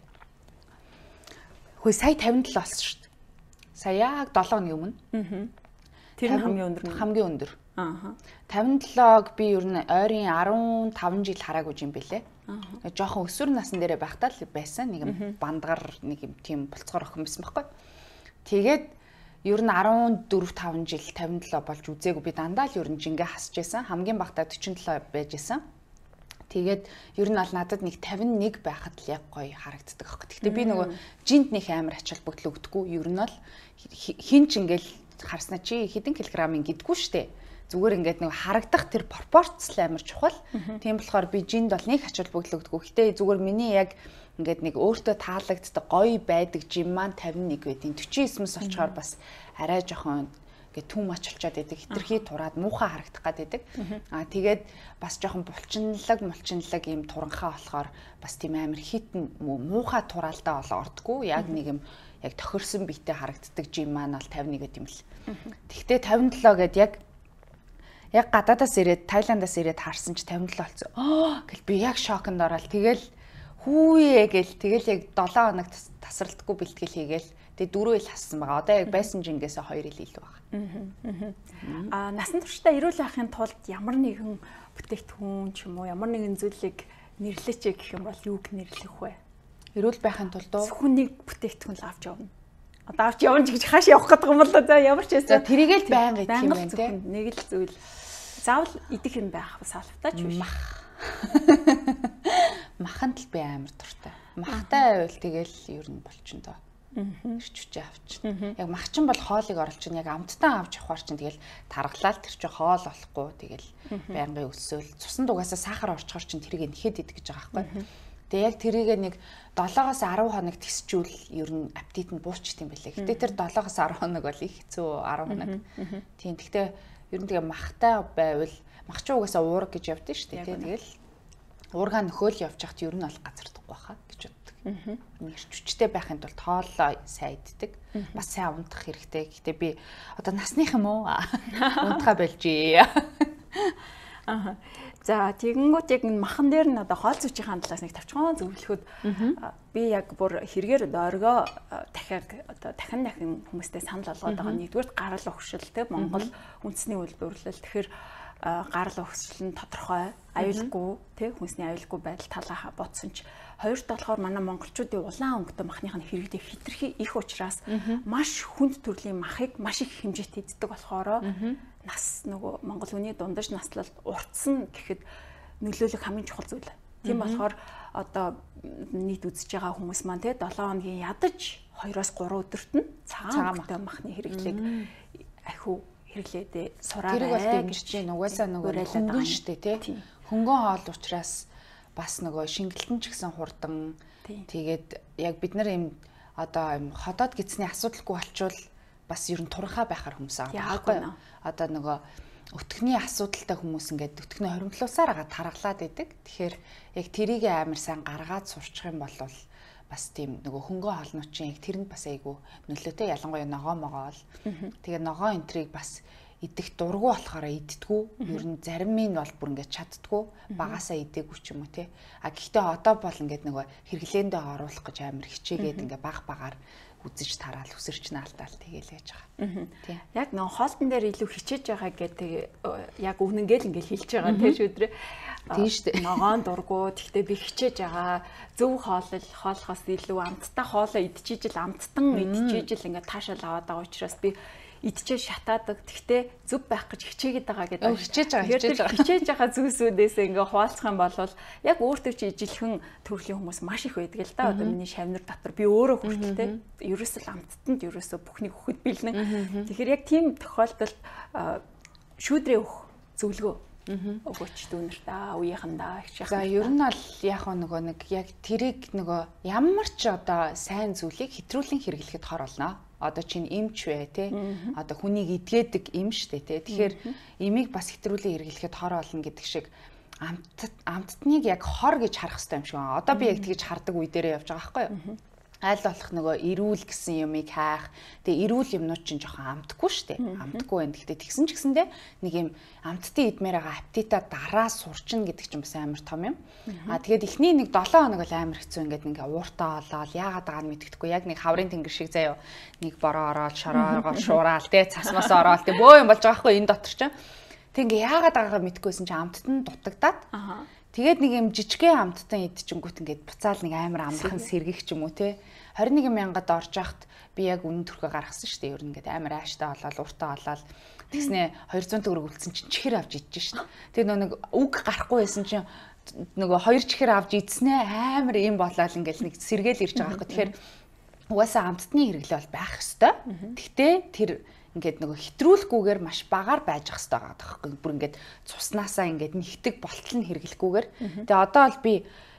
Хөөе сая тавин долоо болсон шүү дээ. Сая яг долоо өдрийн өмнө. Тэр нь хамгийн өндөр нь хамгийн өндөр. Аа. тавин долоог би ер нь ойрын арван таван жил хараагүй юм бэлээ. Аа. Жохон өсвөр насн дээрээ байхдаа л байсан. Нэг бандгар нэг юм тийм болцгоор охин байсан байхгүй. Тэгээд ер нь арван дөрөв таван жил тавин долоо болж үзээгүй би дандаа л ер нь жингээ хасж байсан. Хамгийн багтаа дөрвөн долоо байж байсан. Тэгээд ер нь аль надад нэг тавин нэг байхад л яг гоё харагддаг аахгүй. Гэхдээ би нөгөө жинд нэг амар ач холбогдол өгдөггүй. Ер нь л хин ч ингээл харснаа чи хэдэн килограммын гэдгүү штэ. Зүгээр ингээд нэг харагдах тэр пропорц л амар чухал. Тийм болохоор би жинд бол нэг ач холбогдол өгдөггүй. Гэтэ зүгээр миний яг ингээд нэг өөртөө таалагддаг гоё байдаг жим маань тавин нэг байдیں۔ forty nine-с олчоор бас арай жоохон ингээд түм ач болчоод байдаг. Хитрхий тураад муухай харагдах гад байдаг. Аа тэгээд бас жоохон булчинлаг мулчинлаг ийм туранхаа болохоор бас тийм амар хитэн муухай тураалдаа болоо ордггүй. Яг нэг юм яг тохирсон биетэй харагддаг жим маань бол тавин нэг гэдэм л. Тэгтээ тавин долоо гэд яг яг гадаадаас ирээд Тайландаас ирээд харсан ч тавин долоо болсон. Аа гэл би яг шоконд ороод тэгэл хүүе гэл тэгэл яг долоо хоног тасралтгүй бэлтгэл хийгээл тэгээ дөрөв ил хассан байгаа. Одоо яг байсан жингээс хоёр ил илүү байгаа. Аа насан туршдаа эрүүл байхын тулд ямар нэгэн бүтээгдэхүүн ч юм уу ямар нэгэн зүйлийг нэрлэеч гэх юм бол юуг нэрлэх вэ? Эрүүл байхын тулд зөвхөн нэг бүтээгдэхүүн л авч явна. Одоо авч явна гэж хааш явах гэдэг юм бол за ямар ч байсан тэрийгэл байнга идэх юм байна те. Нэг л зүйл заавал идэх юм байх салфтаа ч биш. Мах. Маханд л би амар дуртай. Махтай байвал тэгэл ер нь болчин доо. Ирчвчээ авчин. Яг мах чинь бол хоолыг оруулж чинь яг амттан авч явахар чинь тэгэл таргалаад тэр чинь хоол болохгүй тэгэл байнгын өсөөл. Цусанд угаасаа сахар орчхоор чинь тэрийг нэхэд идэх гэж байгаа байхгүй. Тэгээ яг тэрийг нэг долоогоос арав хоног тисчүүл ер нь аппетит нь буучт юм байлээ. Гэтэ тэр долоогоос арав хоног бол их хэцүү арав хоног. Тийм. Гэхдээ ер нь тэгээ махтай байвал мах ч угаасаа уурга гэж явдсан шүү дээ. Тэгэл уурга нөхөөл явж хахад ер нь бол газардахгүй байхаа гэж боддог. Нэрчвчтэй байхын тулд хоолоо сайн иддэг. Бас сайн унтах хэрэгтэй. Гэтэ би одоо насных юм уу? Унтахаа болжээ. Аа. За тэгэнгүүт яг махан дээр нь одоо хоол зүйчийн талаас нэг тавчхан зөвлөхөд би яг бүр хэрэгээр оргоо дахиад одоо дахин дахин хүмүүстэй санал болгоод байгаа. Нэгдүгээр гарал өгшил те Монгол үндэсний үйлдвэрлэл. Тэгэхээр гарал өгшил нь тодорхой, аюулгүй те хүнсний аюулгүй байдал талаа бодсон ч хоёрт болохоор манай монголчуудын улаан өнгөтэй махных нь хэрэгдээ хитрхи их учраас маш хүнд төрлийн махыг маш их хэмжээтэй иддэг болохоор нас нөгөө монгол хүний дундаж наслалт уртсан гэхэд нөлөөлөх хамгийн чухал зүйл. Тийм болохоор одоо нийт үзэж байгаа хүмүүс маань те долоон хоногийн ядаж хоёроос гурван өдөрт нь цагаан өнгөтэй махны хэрэглээг ахиу хэрэглээдээ сураарай. Тэр бол дэмжиж чинь угаасаа нөгөө хөнгөн штэ те. Хөнгөн хоол учраас бас нөгөө шингэлтэн ч гэсэн хурдан. Тэгээд яг бид нар юм одоо юм ходоод гисний асуудалгүй болчвол бас ер нь туранхаа байхаар хүмүүс байгаа байхгүй. Одоо нөгөө өтгөний асуудалтай хүмүүс ингээд өтгөний хоримтлуусаар агаа таргалаад идэг. Тэгэхээр яг тэрийг амар сайн гаргаад сурчих юм бол бас тийм нөгөө хөнгөн хоолночийн яг тэрэнд бас айгу нөлөөтэй ялангуяа ногоо могоо бол. Тэгээ ногоо энтрийг бас идэх дургу болохоор иддгүү. Ер нь зарим нь бол бүр ингээд чаддгүү. Багасаа идээгүй ч юм уу те. А гэхдээ одоо бол ингээд нөгөө хэрэглээндээ оруулах гэж амар хичээгээд ингээд баг багаар үзэж тараал өсөрч наалтаал тэгээл яаж байгаа. Тийм. Яг нөө хоолтон дээр илүү хичээж байгаа гэдэг яг үгнэнгээл ингээл хэлж байгаа тийм шүү дээ. Тийм шүү дээ. Ногоон дургу тэгтээ би хичээж байгаа зөв хоолол хоолохоос илүү амттай хоолоо идчихижил амттан идчихижил ингээд таашаал аваад байгаа учраас би идчихээ шатаадаг. Тэгтээ зүв байх гэж хичээгээд байгаа гэдэг. Хичээж байгаа, хичээж байгаа. Хичээж байгаа зүйлсүүдээс ингээ хуваалцах юм бол яг өөртөө чи ижилхэн төрлийн хүмүүс маш их байдаг л да. Одоо миний шавнар дотор би өөрөө хүртэлтэй ерөөсөө амттанд ерөөсөө бүхнийг өгөхөд бэлнэ. Тэгэхээр яг тийм тохиолдолд шүүдрээ өгөх зөвлөгөө өгөөч дүүнэртаа үеийнхандаа их шахах. За ер нь бол яг нөгөө нэг яг тэрийг нөгөө ямар ч одоо сайн зүйлийг хэтрүүлэн хэрэглэхэд хор болно. Одоо чинь эмч вэ те. Одоо хүнийг идгээдэг эм штэ те. Тэгэхээр эмийг бас хэтрүүлэн хэрэглэхэд хор болно гэдэг шиг амт амттныг яг хор гэж харах хэрэгтэй юм шиг байна. Одоо би яг тэгж хардаг үе дээрээ явж байгаа байхгүй юу? Аль болох нөгөө эрүүл гэсэн юмыг хайх. Тэгээ эрүүл юмнууд чинь жоохон амтгүй шүү дээ. Амтгүй байна. Гэхдээ тэгсэн ч гэсэндээ нэг юм амттын идмээр байгаа аппетита дараа сурчин гэдэг чинь бас амар том юм. Аа тэгээд эхний нэг долоо хоног бол амар хэцүү ингээд ингээ ууртаа олоод яагаад байгааг нь мэддэхгүй. Яг нэг хаврын тэнгэр шиг заяа нэг бороо ороод шороогоо шуураал тэ цасмаас ороод тэ бөө юм болж байгаа хгүй энэ дотор чинь. Тэг ингээ яагаад байгаагаа мэдгүйсэн чинь амттад нь дутагдаад. Аа тэгээд нэг юм жижигхэн амттан идчихэнгүүт ингээд буцаал нэг амар амархан сэргийх ч юм уу те двадцать one мянгад орж яхад би яг үнэн төрхөө гаргасан шүү дээ. Ер нь ингээд амар ааштай болоод уртаа болоод тэгснэ two hundred төгрөг үлдсэн чинь чихэр авч идэж шин. Тэгээд нэг үг гарахгүй байсан чинь нөгөө хоёр чихэр авч идснэ амар юм болоод ингээд нэг сэргээл ирж байгаа байхгүй. Тэгэхээр угаасаа амттны хэрэглээ бол байх ёстой. Гэхдээ тэр ингээд нөгөө хэтрүүлэхгүйгээр маш багаар байж ах хэрэгтэй байгаа байхгүй. Бүр ингээд цуснаасаа ингээд нэгтэг болтол нь хэрэглэхгүйгээр. Тэгээ одоо бол би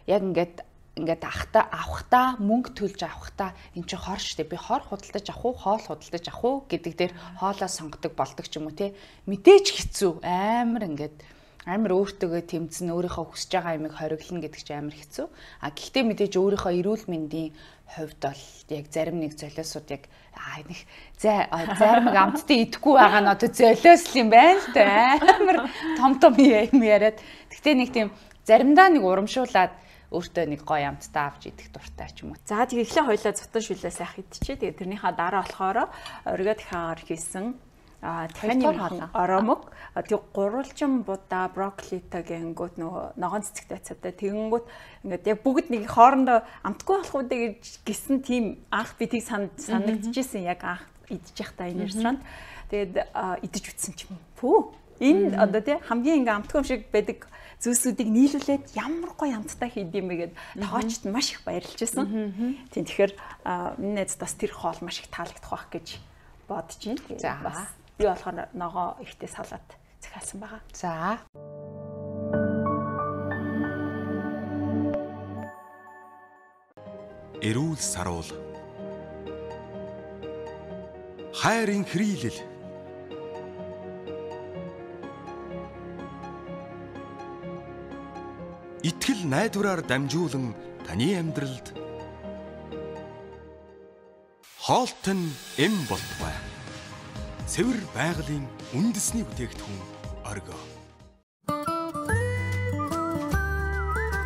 яг ингээд ингээд ахта авахта мөнгө төлж авахта эн чинь хор штэ. Би хор худалдаж авах уу, хоол худалдаж авах уу гэдэг дээр хоолоо сонгодог болдог ч юм уу те. Мэдээж хэцүү амар ингээд амар өөртөөгөө тэмцэн өөрийнхөө хүсэж байгаа юмыг хориглоно гэдэг чинь амар хэцүү. А гэхдээ мэдээж өөрийнхөө эрүүл мэндийн хувьд бол яг зарим нэг золиосууд яг аа нэг зарим амттын идэхгүй байгаа нь одоо золиос юм байна л да. Амар том том юм яриад. Гэхдээ нэг тийм заримдаа нэг урамшуулаад өөртөө нэг гоё амттай авч идэх дуртай ч юм уу. За тэгээ эхлээ хоёлаа цутан шүлээ сайх идчихээ. Тэгээ тэрнийхээ дараа болохоор оргио дахиагаар хийсэн а дахин оромог тэг гурвалжин будаа брокколитай гэнгүүт нөгөө ногоон цэцэгтэй байцаатай тэгэнгүүт ингээд яг бүгд нэг хоорондоо амтгүй болох үү гэж гисэн тийм анх би тийг санагдчихсэн яг анх идэж явахдаа энэ ресторанд тэгээд идэж үтсэн ч юм пүү энэ одоо тий хамгийн ингээ амтгүй юм шиг байдаг зүйлсүүдийг нийлүүлээд ямар гоё амттай хийд юм бэ гэд тоочд маш их баярлж байсан. Тийм тэгэхээр миний найз бас тэр хоол маш их таалагдах байх гэж бодож байна. Тэгээд бас би болохоор ногоо ихтэй салаад захиалсан байгаа. За. Эрүүл саруул. Хайрын хрийлэл. Итгэл найдвараар дамжуулан таны амьдралд хоолтон эм болтугай. Цэвэр байгалийн үндэсний бүтээгдэхүүн оргио.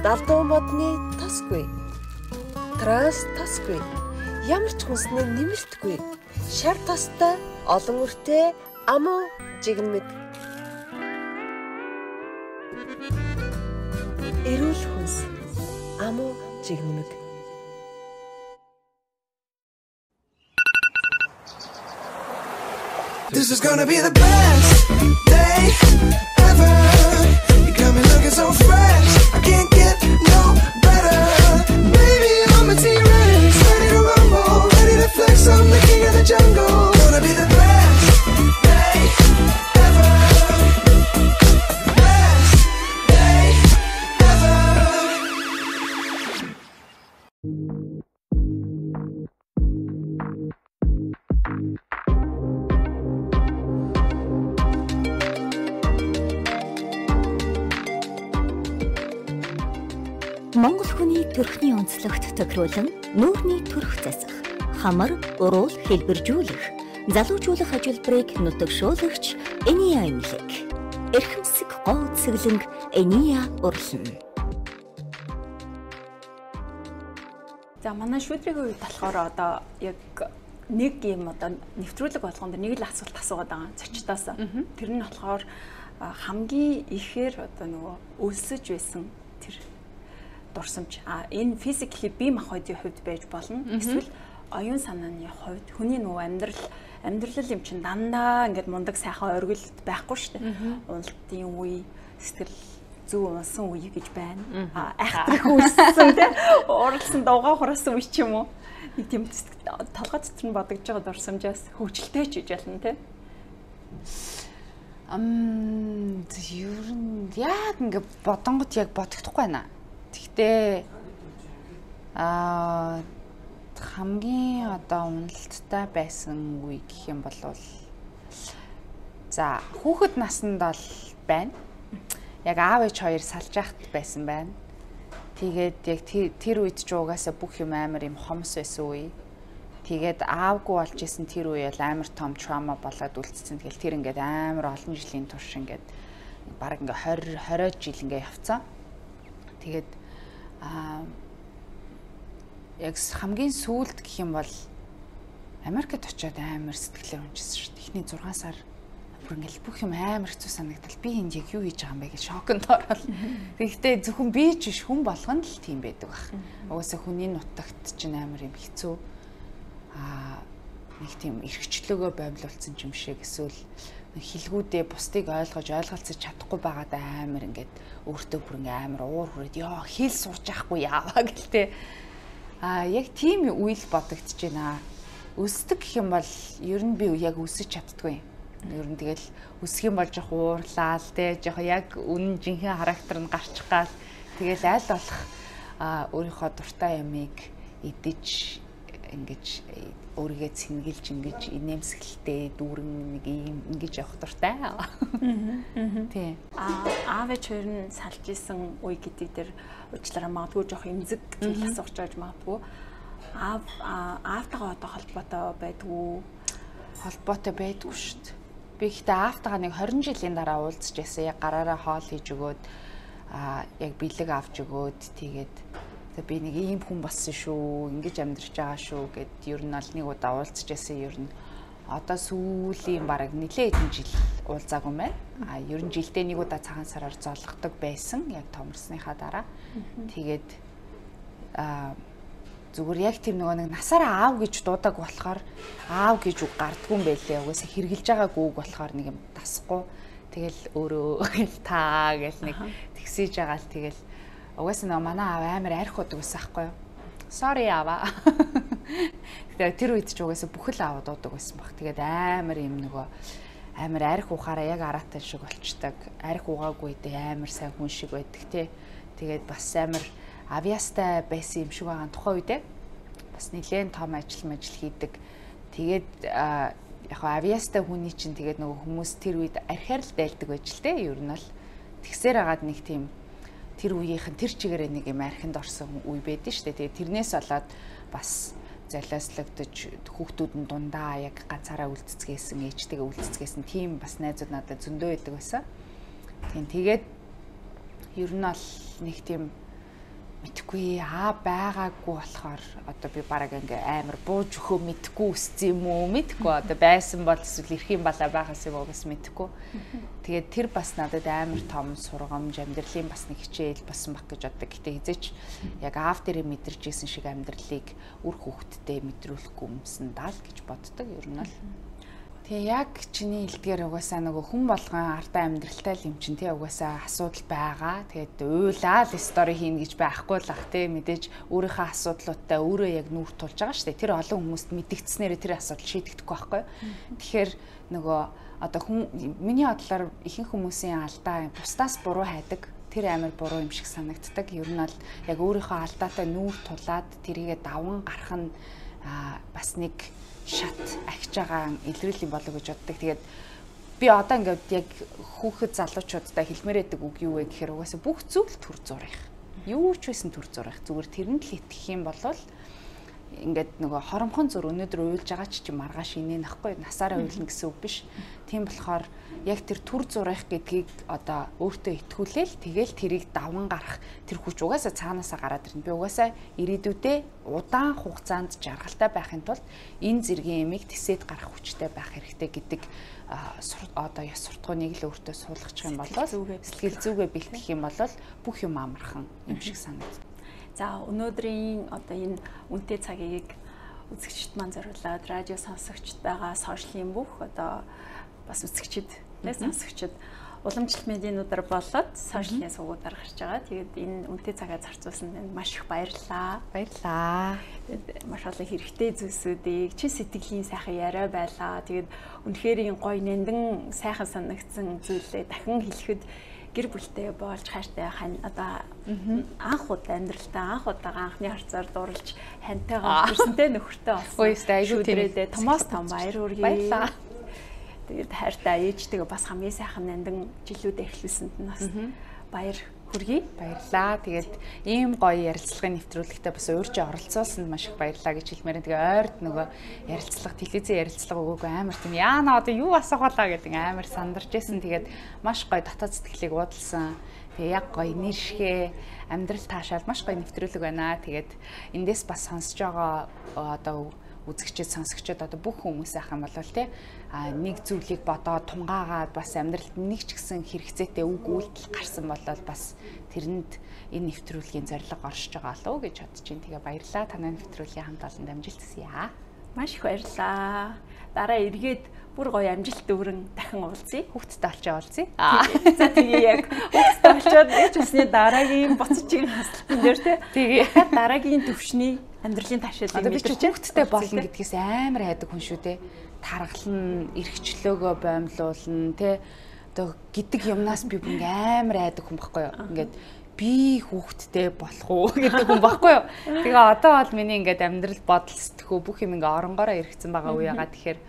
Далдуу модны тасгүй. Транс тасгүй. Ямар ч хүнснээ нэмэртгүй. Шар тастай, олон үртэй, амуу жигнэмэг. Эрүүл хүнс. Амуу жигнэмэг. This is gonna be the best day ever. You got me looking so fresh. I can't get no better. Baby, I'm a T-Rex, ready to rumble, ready to flex. I'm the king of the jungle. Gonna be the best day ever. Best day ever. Монгол хүний төрхний онцлогт тохируулан нүүрний төрх засах, хамар, уруул хэлбэржүүлэх, залуужуулах ажилбарыг нутагшуулагч Эния имлэг. Эрхэмсэг гоо цэглэнг Эния урлан. За манай шүүдрийн үед болохоор одоо яг нэг юм одоо нэвтрүүлэг болгонд нэг л асуулт асуугаад байгаа зочдоос. Тэр нь болохоор хамгийн ихээр одоо нөгөө өлсөж байсан тэр дурсамж. А энэ физикли бие махбодын хувьд байж болно. Эсвэл оюун санааны хувьд хүний нөгөө амьдрал амьдрал юм чин дандаа ингээд мундаг сайхан оргилд байхгүй шүү дээ. Уналтын үе, сэтгэл зүй унсан үе гэж байна. А айхтрах үссэн тий. Уралсан дуугаа хураасан үе ч юм уу. Нэг тийм толгой дотор нь бодогдож байгаа дурсамжаас хөвчлөлтэй ч гэж ялна тий. Ам ер нь яг ингээд бодонгот яг бодогдохгүй байна. Гэхдээ аа хамгийн одоо уналттай байсан үе гэх юм бол за хүүхэд наснд бол байна. Яг аав ээж хоёр салж яхад байсан байна. Тэгээд яг тэр үед ч угаасаа бүх юм амар юм хомс байсан үе. Тэгээд аавгүй болж исэн тэр үе бол амар том траума болоод үлдсэн. Тэгэл тэр ингээд амар олон жилийн турш ингээд баг ингээд twenty twenty жил ингээд явцсан. Тэгээд аа яг хамгийн сүүлд гэх юм бол Америкт очиод амар сэтгэлээр унжсэн шүү дээ. Эхний six сар бүр ингээл бүх юм амар хэцүү санагдал. Би энд яг юу хийж байгаа юм бэ гэж шоконд ороод. Тэгэхдээ зөвхөн би ч биш хүн болгоно л тийм байдаг баг. Угаасаа хүний нутагт чинь амар юм хэцүү. Аа нэг тийм эрхчлөөгөө боомлуулсан юм шиг эсвэл хилгүүдээ бусдыг ойлгож ойлголцож чадахгүй байгаад амар ингээд өөртөө бүр ингээ амар уур хүрээд ёо хэл сурч яахгүй яаваа гэлтэй. А яг тийм үйл бодогдож байна. Өсдөг гэх юм бол ер нь би яг өсөж чаддгүй. Ер нь тэгэл өсөх юм бол жоох уурлаа л те жоох яг үнэн жинхэнэ характер нь гарчих гал тэгэл аль болох өөрийнхөө дуртай ямыг идэж ингэж өөрийгөө цэнгэлж ингэж инээмсэглэлтэй дүүрэн нэг юм ингэж явах дуртай. Тий. А аав ээж хоёр нь салж исэн үе гэдэг дээр уучлаарай магадгүй жоох эмзэг зүйл асууж байж магадгүй. Аав аавтайгаа одоо холбоотой байдгүй холбоотой байдгүй шүү дээ. Би ихтэй аавтайгаа нэг twenty жилийн дараа уулзж байсан. Яг гараараа хоол хийж өгөөд аа яг бэлэг авч өгөөд тэгээд би нэг ийм хүн болсон шүү, ингэж амьдарч байгаа шүү гэд ер нь аль нэг удаа уулзж байсан. Ер нь одоо сүүлийн бараг нэлээд хэдэн жил уулзаагүй байна. А ер нь жилдээ нэг удаа цагаан сараар золгодог байсан. Яг томорсныхаа дараа. Тэгээд а зүгээр яг тийм нөгөө нэг насаараа аав гэж дуудаг болохоор аав гэж үг гардгүй юм байлээ. Угаасаа хэрглэж байгаагүй үг болохоор нэг юм тасахгүй. Тэгэл өөрөө таа гэл нэг тэгсэж байгаа л тэгэл угаасаа нөгөө манай аав амар арх удаг байсан байхгүй юу? Sorry аава. Тэгээд тэр үед ч угаасаа бүхэл аав дуудаг байсан баг. Тэгээд амар юм нөгөө амар арх ухаараа яг араатай шиг болчдаг. Арх угаагүй дэ амар сайн хүн шиг байдаг тий. Тэгээд бас амар авьяастай байсан юм шиг байгаа тухайн үедээ бас нэлээд том ажил мажил хийдэг. Тэгээд яг авьяастай хүний чинь тэгээд нөгөө хүмүүс тэр үед архиар л дайлдаг байж л те. Ер нь бол тэгсээр агаад нэг тийм тэр үеийнхэн тэр чигээрээ нэг юм архинд орсон үе байдэн штэ. Тэгээд тэрнээс болоод бас залааслагдаж хүүхдүүд нь дундаа яг ганцаараа үлдцгээсэн, ээжтэйгээ үлдцгээсэн тийм бас найзууд надад зөндөө байдаг байсан. Тийм тэгээд ер нь бол нэг тийм мэдхгүй аа байгаагүй болохоор одоо би бараг ингээ амар бууж өгөө мэдхгүй үссэн юм уу мэдхгүй одоо байсан бол эсвэл ирэх юм балаа байгаас юм уу бас мэдхгүй. Тэгээд тэр бас надад амар том сургамж амьдралын бас нэг хичээл болсон баг гэж боддог. Гэтэ хизээч яг аав дээрээ мэдэрч исэн шиг амьдралыг үр хүүхдтэй мэдрүүлэхгүй юмсан даа л гэж боддог ер нь л. Тэгээ яг чиний хэлдгээр угаасаа нөгөө хүн болгон ардаа амьдралтай л юм чинь тий угаасаа асуудал байгаа. Тэгээд уйлаа л стори хийн гэж байхгүй л ах тий мэдээж өөрийнхөө асуудлуудтай өөрөө яг нүүр тулж байгаа шүү дээ. Тэр олон хүмүүст мэдгдснээр тэр асуудал шийдэгдэхгүй байхгүй. Тэгэхээр нөгөө одоо хүн миний бодлоор ихэнх хүмүүсийн алдаа бусдаас буруу хайдаг. Тэр амар буруу юм шиг санагддаг. Ер нь бол яг өөрийнхөө алдаатай нүүр тулаад тэрийгэ даван гарах нь бас нэг шат ахиж байгаа илрэл юм болов гэж боддог. Тэгээд би одоо ингээд яг хүүхэд залуучуудтай хэлмээр байдаг үг юу вэ гэхээр угаасаа бүх зүйл төр зурах. Юу ч байсан төр зурах. Зүгээр тэрэнд л итгэх юм бол ингээд нөгөө хоромхон зур өнөөдөр уйлж байгаа ч чи маргааш инээ нахгүй насаараа уйлна гэсэн үг биш. Тийм болохоор яг тэр төр зурах гэдгийг одоо өөртөө итгүүлээл тэгэл тэрийг даван гарах тэр хүч угаасаа цаанаасаа гараад ирнэ. Би угаасаа ирээдүйдээ удаан хугацаанд жаргалтай байхын тулд энэ зэргийн ямиг тисэд гарах хүчтэй байх хэрэгтэй гэдэг одоо яс суртахууныг л өөртөө суулгачих юм бол сэтгэл зүгээ бэлтгэх юм бол бүх юм амархан юм шиг санагдав. За өнөөдрийн одоо энэ үнэтэй цагийг үзэгчд маань зориулаад радио сонсогчд байгаа сошиалын бүх одоо бас үзэгчд нэ сонсогчд уламжлалт медиануудаар болоод сошиалын сувгуудаар гарч байгаа. Тэгээд энэ үнэтэй цагаа зарцуулсан танд маш их баярлалаа. Баярлалаа. Тэгээд маш олон хэрэгтэй зүйлсүүдийг чин сэтгэлийн сайхан яриа байлаа. Тэгээд үнэхээр энэ гоё нандин сайхан санагдсан зүйлээ дахин хэлэхэд гэр бүлтэй болж хайртай хань одоо анх удаа амьдралтаа анх удаа анхны харцаар дурлж хантайгаа ирсэнтэй нөхөртэй болсон. Ой, айгүй тэрээ Томас том баяр хүргэе. Баярлалаа. Тэгээд хайртай ээжтэйгээ бас хамгийн сайхан нандин жилүүдээ эхлүүлсэнд нь бас баяр хүргэе. Баярлалаа. Тэгээд ийм гоё ярилцлагын нэвтрүүлэгтээ бас өөрчөө оролцуулсанд маш их баярлалаа гэж хэлмээр. Тэгээ ойрд нөгөө ярилцлага, телевизийн ярилцлага өгөөгүй амар тийм яана одоо юу асах болоо гэдэг амар сандарч байсан. Тэгээд маш гоё дотоод сэтгэлийг уудалсан. Тэгээ яг гоё нэршгэ амьдрал таашаал маш гоё нэвтрүүлэг байна. Тэгээд эндээс бас сонсож байгаа одоо үзэгчид сонсогчид одоо бүх хүмүүс ах юм бол тий а нэг зүйлийг бодоод тунгаагаад бас амьдралд нэг ч гэсэн хэрэгцээтэй үг үйлдэл гарсан бол бас тэрэнд энэ нэвтрүүлгийн зорилго оршиж байгаа болов уу гэж бодож байна. Тэгээ баярлалаа. Танай нэвтрүүлгийн хамт олон амжилт хүсье. Маш их баярлалаа. Дараа эргээд бүр гоё амжилт дүүрэн дахин уулзъя. Хүүхдтэй олчоо уулзъя. За тэгээ яг хүүхдтэй олчоод гэж усны дараагийн буцчихын хаслтан дээр тий дахиад дараагийн төвшний амьдралын таашаалыг мэдэрч хүүхдтэй болно гэдгээс амар хайдаг хүн шүү дээ. Таргална, эрхчлөөгөө боомлуулна тий одоо гэдэг юмнаас би бүр амар хайдаг хүн байхгүй юу. Ингээд би хүүхдтэй болох уу гэдэг хүн байхгүй юу. Тэгээ одоо бол миний ингээд амьдрал бодол сэтгэхүй бүх юм ингээ оронгороо эргэцэн байгаа уу яагаад тэгэхээр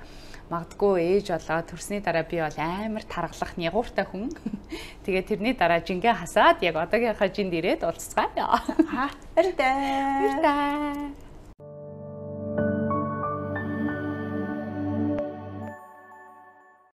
магадгүй ээж болоо төрсний дараа би бол амар таргалах нягууртай хүн. Тэгээ тэрний дараа жингээ хасаад яг одоогийнхаа жинд ирээд уулзцгаая. Аа баяртай. Баяртай.